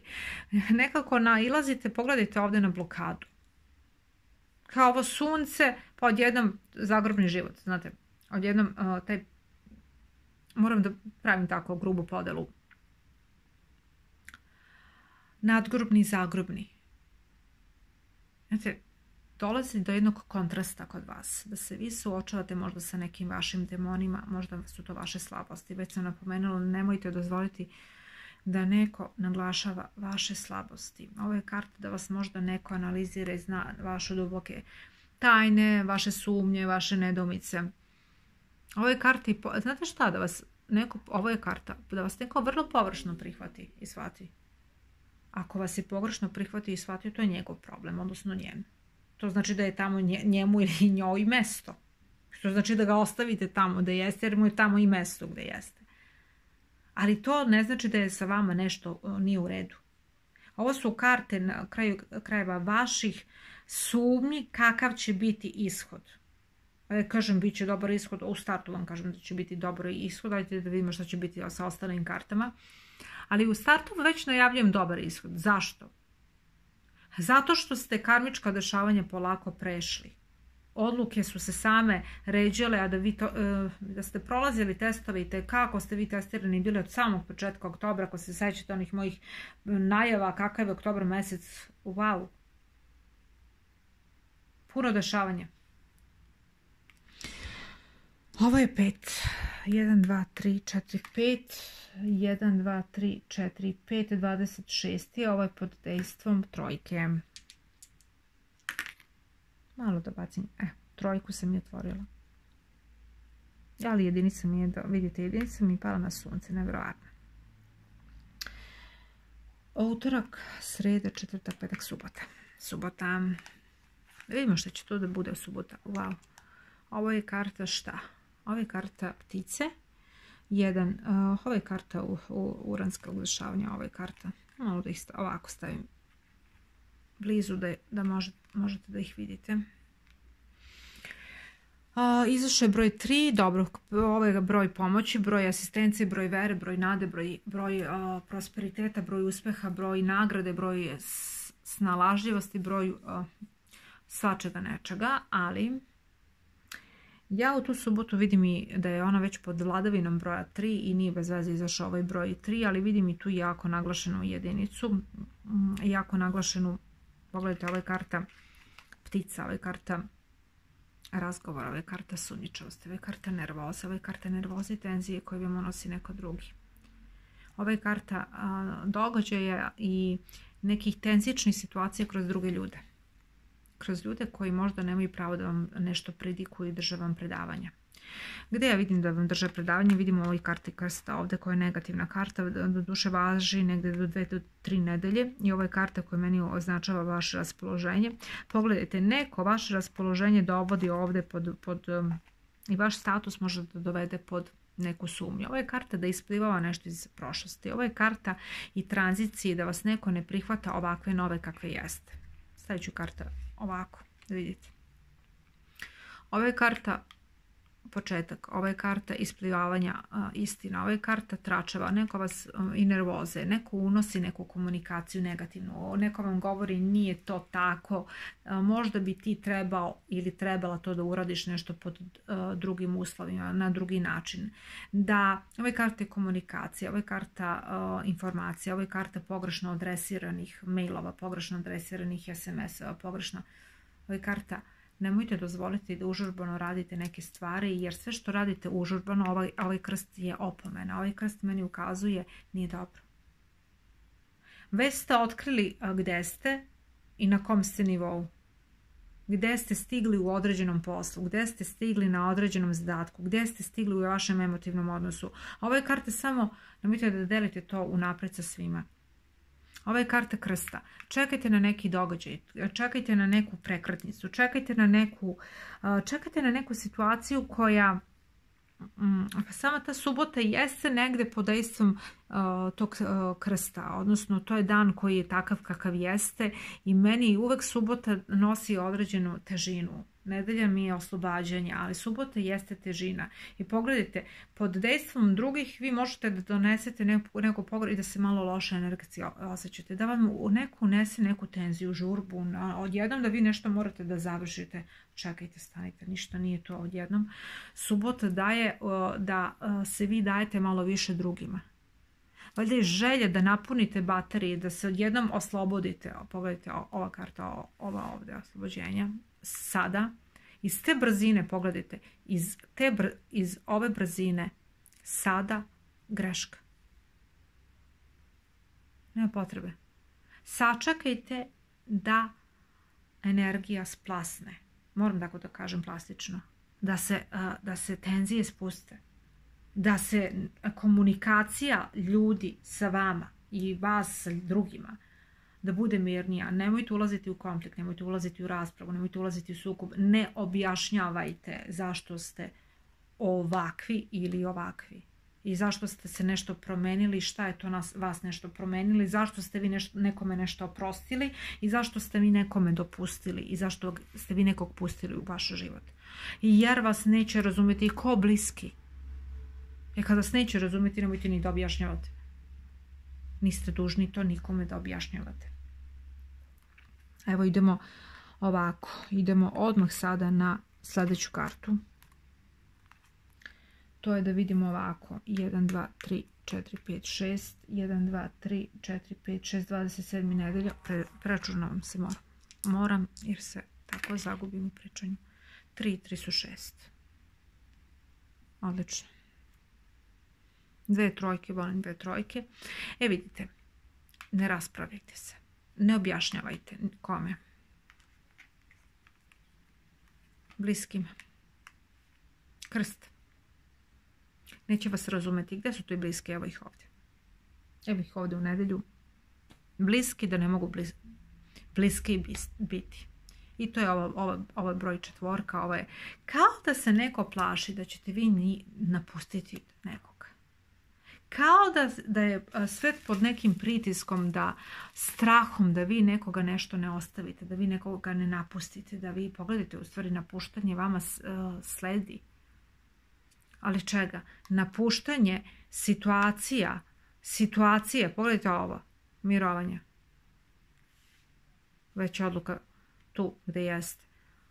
[SPEAKER 1] Nekako nailazite, pogledajte ovdje na blokadu. Kao ovo sunce, pa odjednom zagrobni život, znate, odjednom taj, moram da pravim tako grubu podelu, nadgrobni i zagrobni. Znate, dolazi do jednog kontrasta kod vas, da se vi suočavate možda sa nekim vašim demonima, možda su to vaše slabosti. Već sam napomenula, nemojte dozvoliti da neko naglašava vaše slabosti. Ovo je karta da vas možda neko analizira i zna vaše duboke tajne, vaše sumnje, vaše nedoumice. Ovo je karta, znate šta, da vas neko, ovo je karta, da vas neko vrlo površno prihvati i shvati. Ako vas je pogrešno prihvati i shvati, to je njegov problem, odnosno njen. To znači da je tamo njemu ili njoj mesto. To znači da ga ostavite tamo da jeste, jer mu je tamo i mesto gde jeste. Ali to ne znači da je sa vama nešto nije u redu. Ovo su karte na kraju krajeva vaših sumnji kakav će biti ishod. Kažem, bit će dobar ishod, u startu vam kažem da će biti dobar ishod, dajte da vidimo što će biti sa ostalim kartama. Ali u startu već najavljujem dobar ishod. Zašto? Zato što ste karmička dešavanja polako prešli. Odluke su se same ređale, a da ste prolazili testove i kako ste vi testirani bili od samog početka oktobra, ako se sećate onih mojih najava kakav je oktobar mesec, wow. Puno dešavanja. Ovo je 5. 1, 2, 3, 4, 5. 1, 2, 3, 4, 5, 26. Ovo je pod dejstvom trojke. Malo da bacim. Trojku sam je otvorila. Ali jedinica mi je, vidite, jedinica mi je pala na sunce, nevjerovatno. Utorak, sreda, četvrtak, petak, subota. Subota. Da vidimo što će to da bude subota. Wow. Ovo je karta šta? Ovo je karta ptice. Ovo je karta uranskog dešavanja. Ovo je karta. Malo da ih ovako stavim blizu da možete da ih vidite. Izašao je broj 3, dobro, ovo je broj pomoći, broj asistencije, broj vere, broj nade, broj prosperiteta, broj uspeha, broj nagrade, broj snalažljivosti, broj svačega nečega, ali ja u tu subotu vidim i da je ona već pod vladavinom broja 3 i nije bez veze izašao ovaj broj 3, ali vidim i tu jako naglašenu jedinicu, jako naglašenu, pogledajte, ovo je karta ptica, ovo je karta razgovora, ovo je karta sumnjičavosti, ovo je karta nervoza, ovo je karta nervoze i tenzije koje vam nosi neko drugi. Ovo je karta događaja i nekih tenzičnih situacija kroz druge ljude. Kroz ljude koji možda nemaju pravo da vam nešto predikuju i drže vam predavanja. Gdje ja vidim da vam drže predavanje, vidimo ovoj karti krsta ovdje koja je negativna karta, do duše važi negdje do 2 do 3 nedelje i ovo je karta koja meni označava vaše raspoloženje. Pogledajte, neko vaše raspoloženje dovodi ovdje pod i vaš status može da dovede pod neku sumnju. Ovo je karta da isplivava nešto iz prošlosti. Ovo je karta i tranzicije, da vas neko ne prihvata ovakve nove kakve jeste. Stavit ću karta ovako, da vidite. Ovo je karta početak, ovo je karta isplivavanja istina, ovo je karta tračeva, neko vas i nervoze, neko unosi neku komunikaciju negativnu, neko vam govori nije to tako, možda bi ti trebao ili trebala to da uradiš nešto pod drugim uslovima, na drugi način. Da, ovo je karta komunikacije, ovo je karta informacija, ovo je karta pogrešno adresiranih mailova, pogrešno adresiranih SMS-ova, pogrešno, ovo je karta. Nemojte dozvoliti da užurbano radite neke stvari, jer sve što radite užurbano, ovaj krst je opomena. Ovaj krst meni ukazuje nije dobro. Već ste otkrili gde ste i na kom ste nivou. Gde ste stigli u određenom poslu, gde ste stigli na određenom zadatku, gde ste stigli u vašem emotivnom odnosu. Ova je karta samo, nemojte da delite to unapred sa svima. Ova je karta krsta. Čekajte na neki događaj, čekajte na neku prekretnicu, čekajte na neku situaciju koja, sama ta subota jeste negde pod dejstvom tog krsta, odnosno to je dan koji je takav kakav jeste i meni uvek subota nosi određenu težinu. Nedelja mi je oslobađanje, ali subota jeste težina. I pogledajte, pod dejstvom drugih vi možete da donesete neku pogled i da se malo loše energetski osjećate. Da vam neko unese neku tenziju, žurbu, odjednom da vi nešto morate da završite. Čekajte, stanite, ništa nije to odjednom. Subota daje da se vi dajete malo više drugima. Valjda je želja da napunite baterije, da se odjednom oslobodite. Pogledajte, ova karta, ova ovdje oslobođenja. Sada, iz te brzine, pogledajte, iz ove brzine, sada greška. Nema potrebe. Sačekajte da energija splasne. Moram tako da kažem plastično. Da se tenzije spuste. Da se komunikacija ljudi sa vama i vas sa drugima da bude mirnija. Nemojte ulaziti u konflikt, nemojte ulaziti u raspravu, nemojte ulaziti u sukob. Ne objašnjavajte zašto ste ovakvi ili ovakvi. I zašto ste se nešto promenili, šta je to vas nešto promenili, zašto ste vi nekome nešto oprostili i zašto ste vi nekome dopustili i zašto ste vi nekog pustili u vaš život. Jer vas neće razumjeti ko bliski. Kad vas neće razumjeti, nemojte ni da objašnjavate. Niste dužni to nikome da objašnjavate. Evo idemo ovako. Idemo odmah sada na sljedeću kartu. To je da vidimo ovako. 1, 2, 3, 4, 5, 6. 1, 2, 3, 4, 5, 6, 27. nedelja. Preračunavam se moram jer se tako zagubim u pričanju. 3 su 6. Odlično. 2 trojke, volim 2 trojke. Vidite, ne raspravljajte se. Ne objašnjavajte kome. Bliskim. Krst. Neće vas razumeti. Gdje su tu i bliski? Evo ih ovdje. Evo ih ovdje u nedelju. Bliski da ne mogu bliski biti. I to je ovo broj 4. Ovo je kao da se neko plaši da ćete vi napustiti nekog. Kao da je svet pod nekim pritiskom, strahom da vi nekoga nešto ne ostavite, da vi nekoga ne napustite, da vi pogledajte, u stvari napuštanje vama sledi. Ali čega? Napuštanje situacije, pogledajte ovo, mirovanje. Već je odluka tu gdje jeste.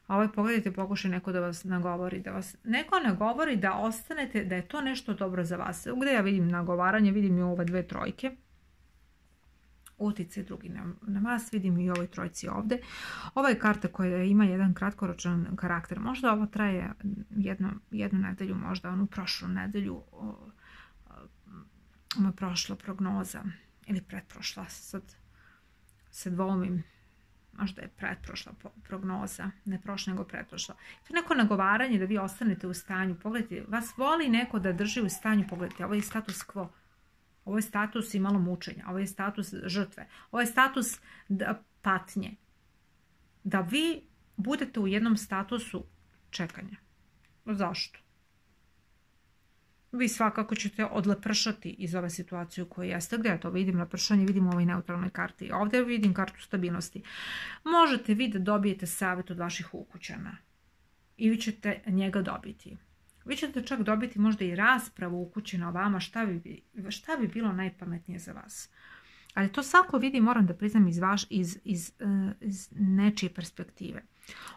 [SPEAKER 1] A ovo pogledajte, pokušaj neko da vas nagovori. Neko nagovori da ostanete, da je to nešto dobro za vas. Gdje ja vidim nagovaranje, vidim i ove 2 trojke. Utjecaj drugi na vas, vidim i ovoj trojci ovdje. Ovo je karta koja ima jedan kratkoročan karakter. Možda ovo traje jednu nedelju, možda onu prošlu nedelju. Ono prošla prognoza ili pretprošla, sad se dvoumim. Možda je pretprošla prognoza, ne prošla nego pretprošla. To je neko nagovaranje da vi ostanete u stanju. Pogledajte, vas voli neko da drži u stanju. Pogledajte, ovo je status quo. Ovo je status i malo mučenja. Ovo je status žrtve. Ovo je status patnje. Da vi budete u jednom statusu čekanja. Zašto? Vi svakako ćete odlepršati iz ove situacije u kojoj jeste. Gdje ja to vidim? Lepršanje vidim u ovoj neutralnoj karti. Ovdje vidim kartu stabilnosti. Možete vi da dobijete savjet od vaših ukućana. I vi ćete njega dobiti. Vi ćete čak dobiti možda i raspravu ukućena o vama šta bi bilo najpametnije za vas. Ali to svako vidi, moram da priznam, iz nečije perspektive.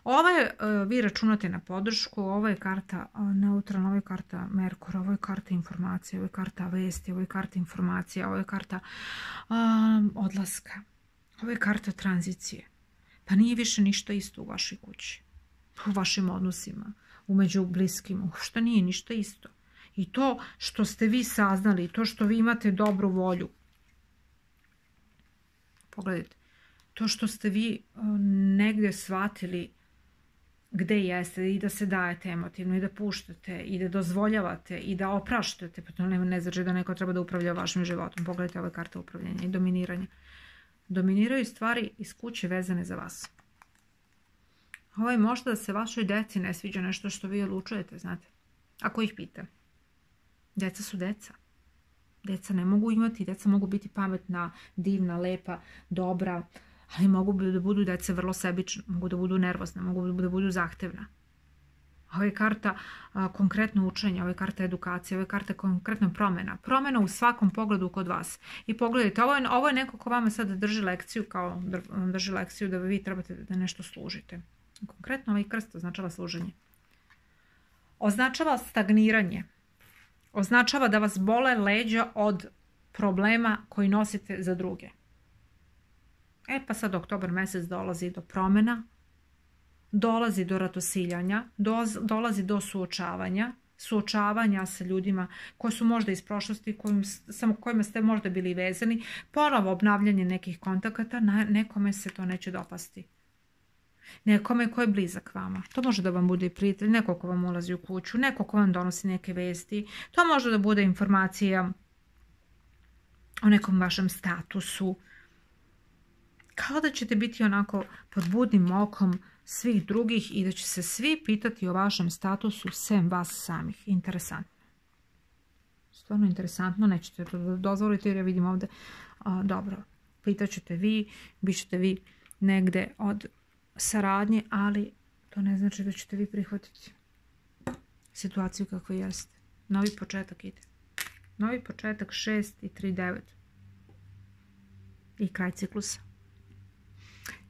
[SPEAKER 1] Ovo je, vi računate na podršku, ovo je karta neutralna, ovo je karta Merkura, ovo je karta informacije, ovo je karta vesti, ovo je karta informacija, ovo je karta odlaska, ovo je karta tranzicije. Pa nije više ništa isto u vašoj kući, u vašim odnosima, među bliskim, što nije ništa isto. I to što ste vi saznali, to što vi imate dobru volju, pogledajte, to što ste vi negdje shvatili gde jeste i da se dajete emotivno i da puštate i da dozvoljavate i da opraštate, pa to ne znači da neko treba da upravlja vašim životom. Pogledajte ove karte upravljanja i dominiranja. Dominiraju stvari iz kuće vezane za vas. Ovo je možda da se vašoj deci ne sviđa nešto što vi odlučujete, znate. Ako ih pita. Deca su deca. Deca ne mogu imati, deca mogu biti pametna, divna, lepa, dobra, ali mogu da budu deca vrlo sebična, mogu da budu nervozna, mogu da budu zahtevna. Ovo je karta konkretno učenja, ovo je karta edukacije, ovo je karta konkretna promjena. Promjena u svakom pogledu kod vas. I pogledajte, ovo je neko ko vama sad drži lekciju, da vi trebate da nešto služite. Konkretno ovaj krst označava služenje. Označava stagniranje. Označava da vas bole leđa od problema koji nosite za druge. Pa sad oktobar mjesec dolazi do promjena, dolazi do ratosiljanja, dolazi do suočavanja sa ljudima koji su možda iz prošlosti, kojima ste možda bili vezani, ponovo obnavljanje nekih kontakata, nekome se to neće dopasti. Nekome ko je blizak vama. To može da vam bude i prijatelj, neko ko vam ulazi u kuću, neko ko vam donosi neke vesti. To može da bude informacija o nekom vašem statusu. Kao da ćete biti onako pod budnim okom svih drugih i da će se svi pitati o vašem statusu sem vas samih. Interesantno. Stvarno interesantno, nećete to dozvoliti jer ja vidim ovdje. Dobro, pitat ćete vi, bit ćete vi negde od saradnje, ali to ne znači da ćete vi prihvatiti situaciju kakva jeste. Novi početak ide. Novi početak 6 i 3, 9. I kraj ciklusa.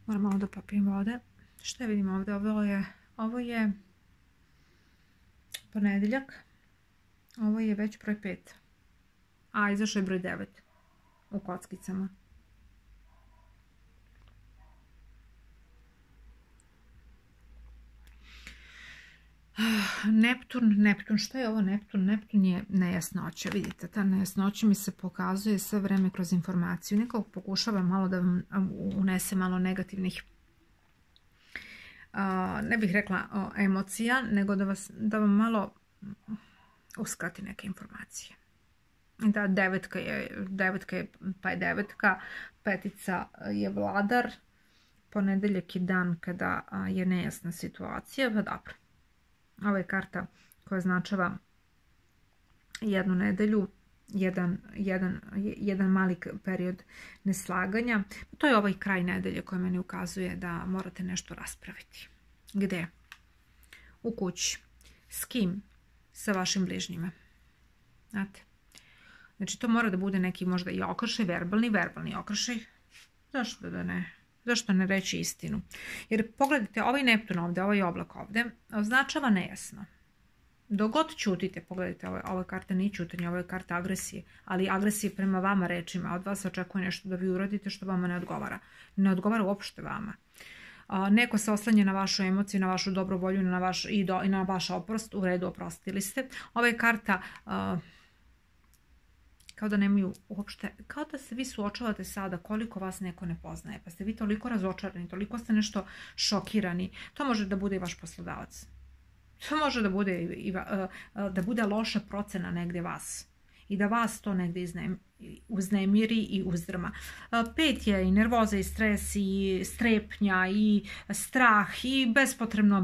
[SPEAKER 1] Moram malo da popijem vode. Šta vidimo ovdje? Ovo je ponedjeljak. Ovo je već broj 5. A izašao je broj 9 u kockicama. Neptun, šta je ovo Neptun? Neptun je nejasnoća, vidite, ta nejasnoća mi se pokazuje sve vreme kroz informaciju. Nekako pokušava malo da vam unese malo negativnih, ne bih rekla emocija, nego da vam malo uskrati neke informacije. Da, devetka je, pa je devetka, petica je vladar, ponedeljak je dan kada je nejasna situacija, pa dobro. Ovo je karta koja označava jednu nedelju, jedan mali period neslaganja. To je ovaj kraj nedelje koji meni ukazuje da morate nešto raspraviti. Gde? U kući. S kim? Sa vašim bližnjima. Znate? Znači to mora da bude neki možda i okršaj, verbalni okršaj. Zašto da ne? Zašto ne reći istinu? Jer pogledajte, ovaj Neptun ovdje, ovaj oblak ovdje, označava nejasno. Dok god ćutite, pogledajte, ova karta nije ćutanje, ovo je karta agresije, ali agresije prema vama rečima, od vas očekuje nešto da vi uradite što vama ne odgovara. Ne odgovara uopšte vama. Neko se oslanja na vašu emociju, na vašu dobru volju i na vaš oprost, u redu oprostili ste. Ova je karta kao da nemaju uopšte, kao da se vi suočavate sada koliko vas neko ne poznaje, pa ste vi toliko razočarani, toliko ste nešto šokirani. To može da bude i vaš poslodavac. To može da bude loša procena negdje vas. i da vas to negdje uznemiri i uzdrma. 5 je i nervoza i stres i strepnja i strah i bespotrebna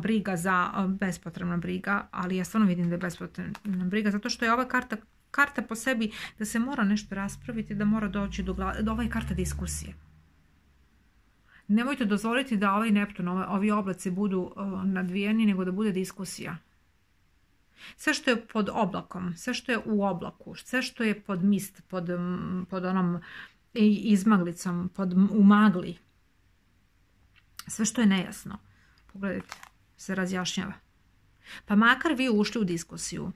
[SPEAKER 1] briga, ali ja stvarno vidim da je bespotrebna briga zato što je ova karta po sebi da se mora nešto raspraviti, da mora doći do ove karta diskusije. Nemojte dozvoliti da ovaj Neptun, ovi oblaci budu nadvijeni, nego da bude diskusija. Sve što je pod oblakom, sve što je u oblaku, sve što je pod mist, pod onom izmaglicom, u magli, sve što je nejasno, pogledajte, se razjašnjava. Pa makar vi ušli u diskusiju,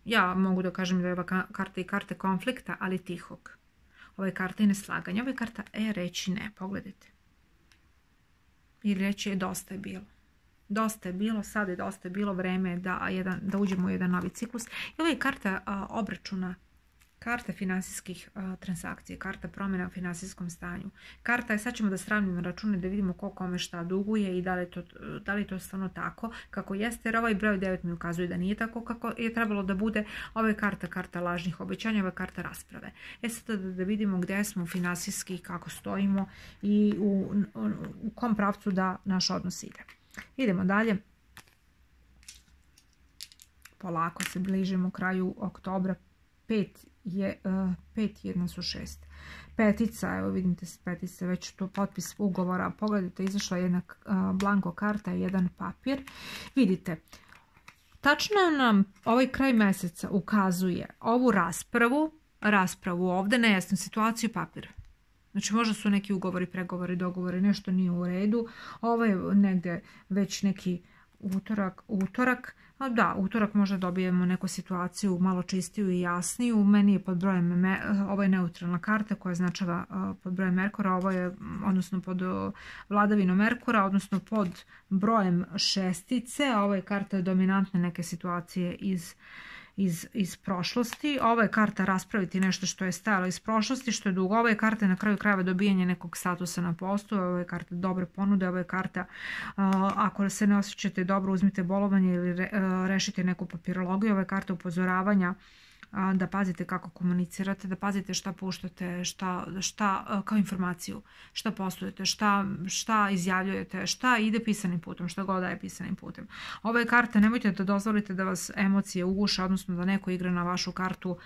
[SPEAKER 1] ja mogu da kažem da je ova karta i karta konflikta, ali tihog. Ova je karta i neslaganja, ova je karta reći ne, pogledajte. I reći je dosta je bilo. Dosta je bilo, sad je dosta je bilo vreme da uđemo u jedan novi ciklus. I ovo je karta obračuna, karta finansijskih transakcija, karta promjena u finansijskom stanju. Karta je, sad ćemo da sravnimo račune, da vidimo ko kome šta duguje i da li je to stvarno tako kako jeste, jer ovaj broj 9 mi ukazuje da nije tako kako je trebalo da bude. Ovo je karta lažnih obećanja, ovo je karta rasprave. Sad da vidimo gdje smo finansijski, kako stojimo i u kom pravcu da naš odnos ide. Idemo dalje. Polako se bližimo kraju oktobra. 5 su 6. Petica, evo vidite s petice, već tu potpis ugovora. Pogledajte, izašla jedna blanko karta i jedan papir. Vidite, tačno nam ovaj kraj mjeseca ukazuje ovu raspravu ovdje, nejasnu situaciju, papir. Znači možda su neki ugovori, pregovori, dogovori, nešto nije u redu. Ovo je negdje već neki utorak. Da, utorak možda dobijemo neku situaciju malo čistiju i jasniju. Meni je pod brojem, ovo je neutralna karta koja značava pod brojem Merkura, ovo je odnosno pod vladavinom Merkura, odnosno pod brojem šestice, a ovo je karta dominantne neke situacije iz prošlosti. Ovo je karta raspraviti nešto što je stajalo iz prošlosti, što je dugo. Ovo je karta na kraju krajeva dobijanje nekog statusa na poslu. Ovo je karta dobre ponude. Ovo je karta ako se ne osjećate dobro, uzmite bolovanje ili rešite neku papirologiju. Ovo je karta upozoravanja da pazite kako komunicirate, da pazite šta puštate, šta kao informaciju, šta poslujete, šta izjavljujete, šta ide pisanim putem, šta god daje pisanim putem. Ova je karta, nemojte da dozvolite da vas emocije uguše, odnosno da neko igra na vašu kartu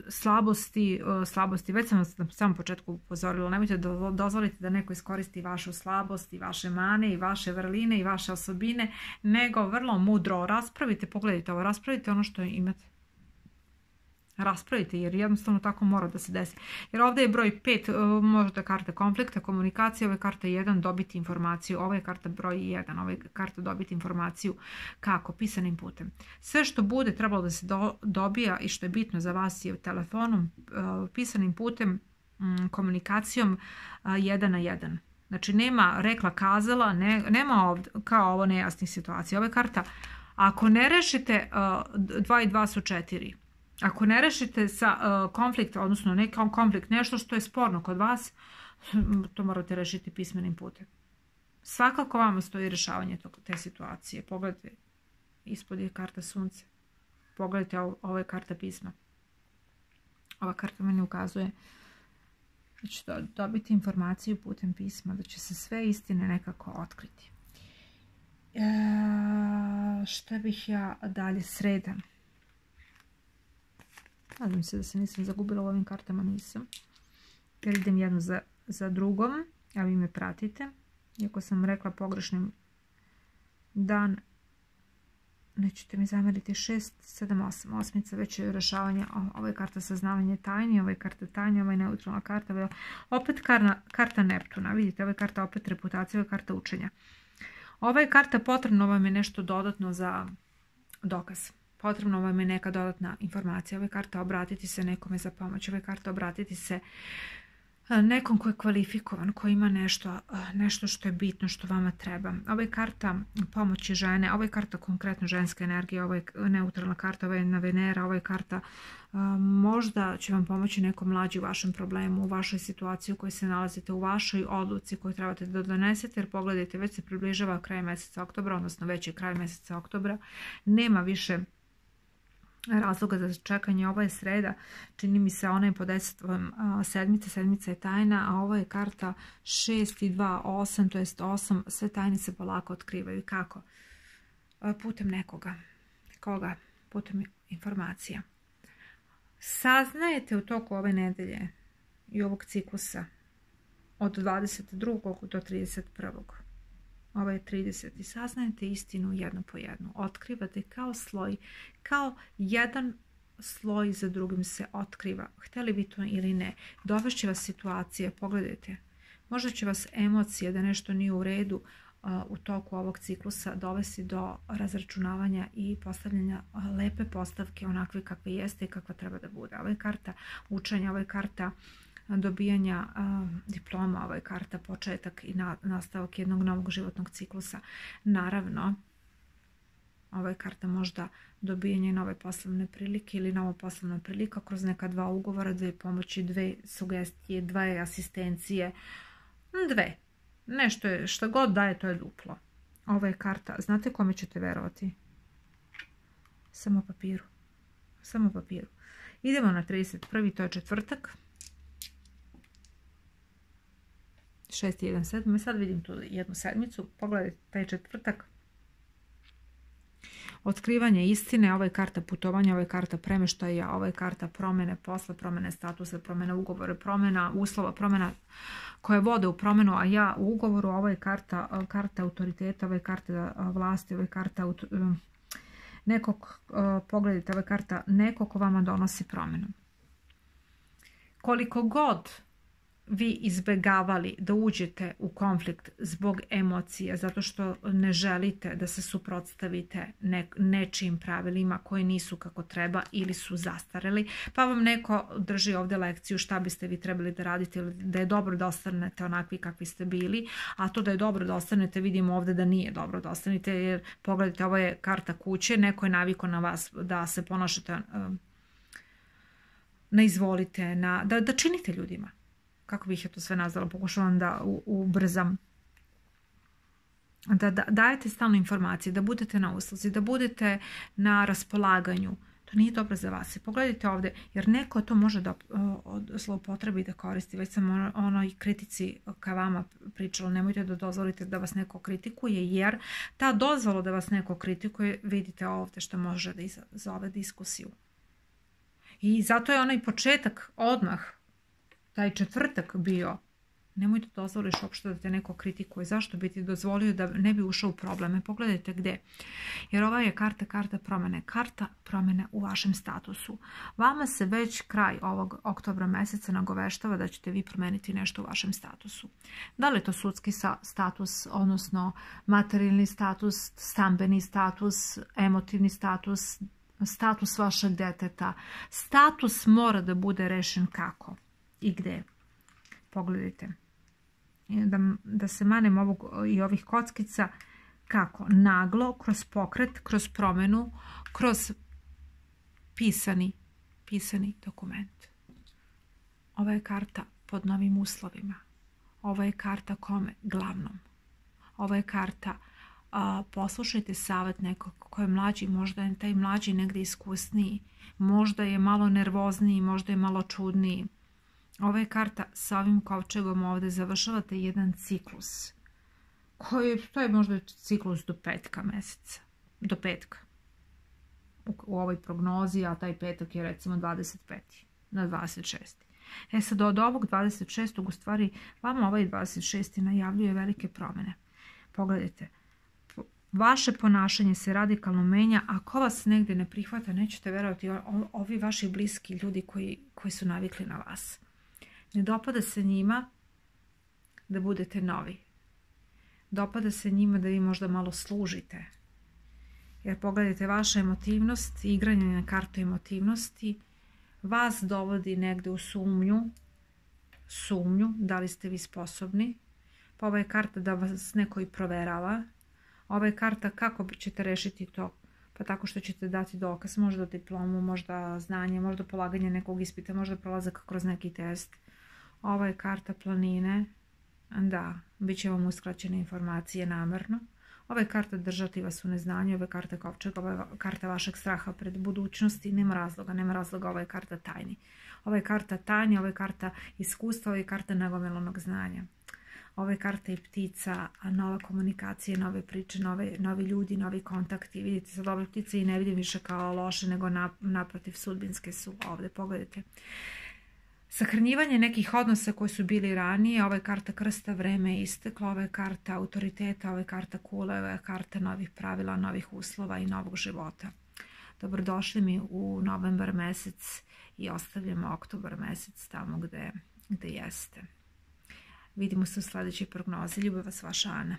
[SPEAKER 1] slabosti. Već sam vas na samom početku upozorila, nemojte da dozvolite da neko iskoristi vašu slabost i vaše mane i vaše vrline i vaše osobine, nego vrlo mudro raspravite, pogledajte ovo, raspravite ono što imate. Raspravite, jer jednostavno tako mora da se desi. Jer ovdje je broj 5, možda karta konflikta, komunikacija, ovo je karta 1, dobiti informaciju, ovo je karta broj 1, ovo je karta dobiti informaciju kako, pisanim putem. Sve što bude trebalo da se dobija i što je bitno za vas je telefonom, pisanim putem, komunikacijom 1 na 1. Znači nema rekla kazala, nema ovdje, kao ovo nejasnih situacija. Ovo je karta, ako ne rešite 2 i 2 su 4. Ako ne rešite sa konflikt, odnosno neki konflikt, nešto što je sporno kod vas, to morate rešiti pismenim putem. Svakako vama stoji rešavanje te situacije. Pogledajte, ispod je karta sunce. Pogledajte, ovo je karta pisma. Ova karta meni ukazuje da ćete dobiti informaciju putem pisma, da će se sve istine nekako otkriti. Šta bih ja dalje? Sreda. Nadam se da se nisam zagubila u ovim kartama, nisam. Jer idem jednu za drugom, a vi me pratite. Iako sam rekla pogrešnim dan, nećete mi zameriti. 6, 7, 8. Osmica, već je rešavanje. Ovo je karta saznavanje tajni, ovo je karta tajni, ovo je neutralna karta. Ovo je opet karta Neptuna. Vidite, ovo je karta opet reputacije, ovo je karta učenja. Ova je karta potrebno vam je nešto dodatno za dokaz. Potrebno vam je neka dodatna informacija. Ovo je karta obratiti se nekome za pomoć. Ovo je karta obratiti se nekom ko je kvalifikovan, ko ima nešto što je bitno, što vama treba. Ovo je karta pomoći žene, ovo je karta konkretno ženske energije, ovo je neutralna karta, ovo je na Venera, ovo je karta možda će vam pomoći neko mlađi u vašem problemu, u vašoj situaciji u kojoj se nalazite, u vašoj odluci koju trebate da donesete, jer pogledajte, već se približava kraj mjeseca oktobra, odnosno već je kraj mjeseca oktobra, nema više razloga za čekanje. Ovo je sreda, čini mi se ona je pod dejstvom sedmice, sedmica je tajna, a ovo je karta 6 i 2, 8, to jest 8, sve tajne se polako otkrivaju. Kako? Putem nekoga. Koga? Putem informacija. Saznajete u toku ove nedelje i ovog ciklusa od 22. do 31. Ovo je 30. I saznajete istinu jednu po jednu. Otkrivate kao sloj, kao jedan sloj za drugim se otkriva. Htjeli vi to ili ne. Dovešće vas situacije, pogledajte. Možda će vas emocije da nešto nije u redu u toku ovog ciklusa dovesti do razračunavanja i postavljanja lepe postavke onakve kakve jeste i kakva treba da bude. Ovo je karta učenja, ovo je karta dobijanja diploma, ovo je karta početak i nastavak jednog novog životnog ciklusa. Naravno, ovo je karta možda dobijanja nove poslovne prilike ili nova poslovna prilika kroz neka dva ugovora, dve pomoći, dve sugestije, dve asistencije, dve. Nešto je, što god daje, to je duplo. Ovo je karta, znate kome ćete verovati? Samo papiru. Samo papiru. Idemo na 31. to je četvrtak. 6.1.7. Sad vidim tu jednu sedmicu. Pogledajte taj četvrtak. Otkrivanje istine, ovo je karta putovanja, ovo je karta premeštaja, ovo je karta promjene posla, promjene statusa, promjene ugovora, promjena uslova, promjena koje vode u promjenu, a ja u ugovoru. Ovo je karta autoriteta, ovo je karta vlasti, ovo je karta nekog, pogledajte, ovo je karta nekog ko vama donosi promjenu. Koliko god vi izbjegavali da uđete u konflikt zbog emocija, zato što ne želite da se suprotstavite nečijim pravilima koji nisu kako treba ili su zastareli, pa vam neko drži ovdje lekciju šta biste vi trebali da radite, ili da je dobro da ostanete onakvi kakvi ste bili, a to da je dobro da ostanete vidimo ovdje da nije dobro da ostanete, jer pogledajte, ovo je karta kuće, neko je navikao na vas da se ponašate na izvolite, da činite ljudima. Kako bih ja to sve nazvala, pokušavam da ubrzam. Da dajete stalno informacije, da budete na usluzi, da budete na raspolaganju. To nije dobro za vas. Pogledajte ovdje, jer neko to može da zloupotrebi da koristi. Već sam onoj kritici ka vama pričala, nemojte da dozvolite da vas neko kritikuje, jer ta dozvola da vas neko kritikuje, vidite ovdje što može da izazove diskusiju. I zato je onaj početak odmah, taj četvrtak bio, nemoj da dozvoliš uopšte da te neko kritikuje. Zašto bi ti dozvolio da ne bi ušao u probleme? Pogledajte gdje. Jer ova je karta promjene. Karta promjene u vašem statusu. Vama se već kraj ovog oktobra mjeseca nagoveštava da ćete vi promijeniti nešto u vašem statusu. Da li je to sudski status, odnosno materijalni status, stambeni status, emotivni status, status vašeg djeteta. Status mora da bude rešen kako i gdje. Pogledajte. Da se manem ovih kockica. Kako? Naglo, kroz pokret, kroz promjenu, kroz pisani dokument. Ova je karta pod novim uslovima. Ova je karta kome? Glavnom. Ova je karta poslušajte savjet nekog ko je mlađi, možda je taj mlađi negdje iskusniji, možda je malo nervozniji, možda je malo čudniji. Ova je karta sa ovim kovčegom ovdje, završavate jedan ciklus. To je možda ciklus do petka mjeseca. Do petka. U ovoj prognozi, a taj petak je recimo 25. na 26. Sad od ovog 26. u stvari vama ovaj 26. najavljuje velike promjene. Pogledajte. Vaše ponašanje se radikalno menja. Ako vas negdje ne prihvata, nećete verovati, ovi vaši bliski ljudi koji su navikli na vas. Ne dopada se njima da budete novi. Dopada se njima da vi možda malo služite. Jer pogledajte, vaša emotivnost, igranje na kartu emotivnosti, vas dovodi negdje u sumnju, da li ste vi sposobni. Pa ova je karta da vas neko i proverava. Ova je karta kako ćete rešiti to. Pa tako što ćete dati dokaz, možda diplomu, možda znanje, možda polaganje nekog ispita, možda prolazak kroz neki test. Ova je karta planine. Da, bit će vam uskraćene informacije namerno. Ova je karta držati vas u neznanju, ova je karta kovčega, ova je karta vašeg straha pred budućnosti, nema razloga, ova je karta tajni. Ova je karta tajni, ova je karta iskustva, ova je karta nagomilanog znanja. Ova je karta i ptica, nova komunikacija, nove priče, novi ljudi, novi kontakti. Vidite, sad ove ptice i ne vidim više kao loše, nego naprotiv sudbinske su ovde, pogledajte. Sahranjivanje nekih odnosa koji su bili ranije, ova je karta krsta, vreme je isteklo, ova je karta autoriteta, ova je karta kule, ova je karta novih pravila, novih uslova i novog života. Dobrodošli mi u novembar mesec i ostavljamo oktobar mesec tamo gde jeste. Vidimo se u sledećoj prognozi. Ljubav vas, vaša Ana.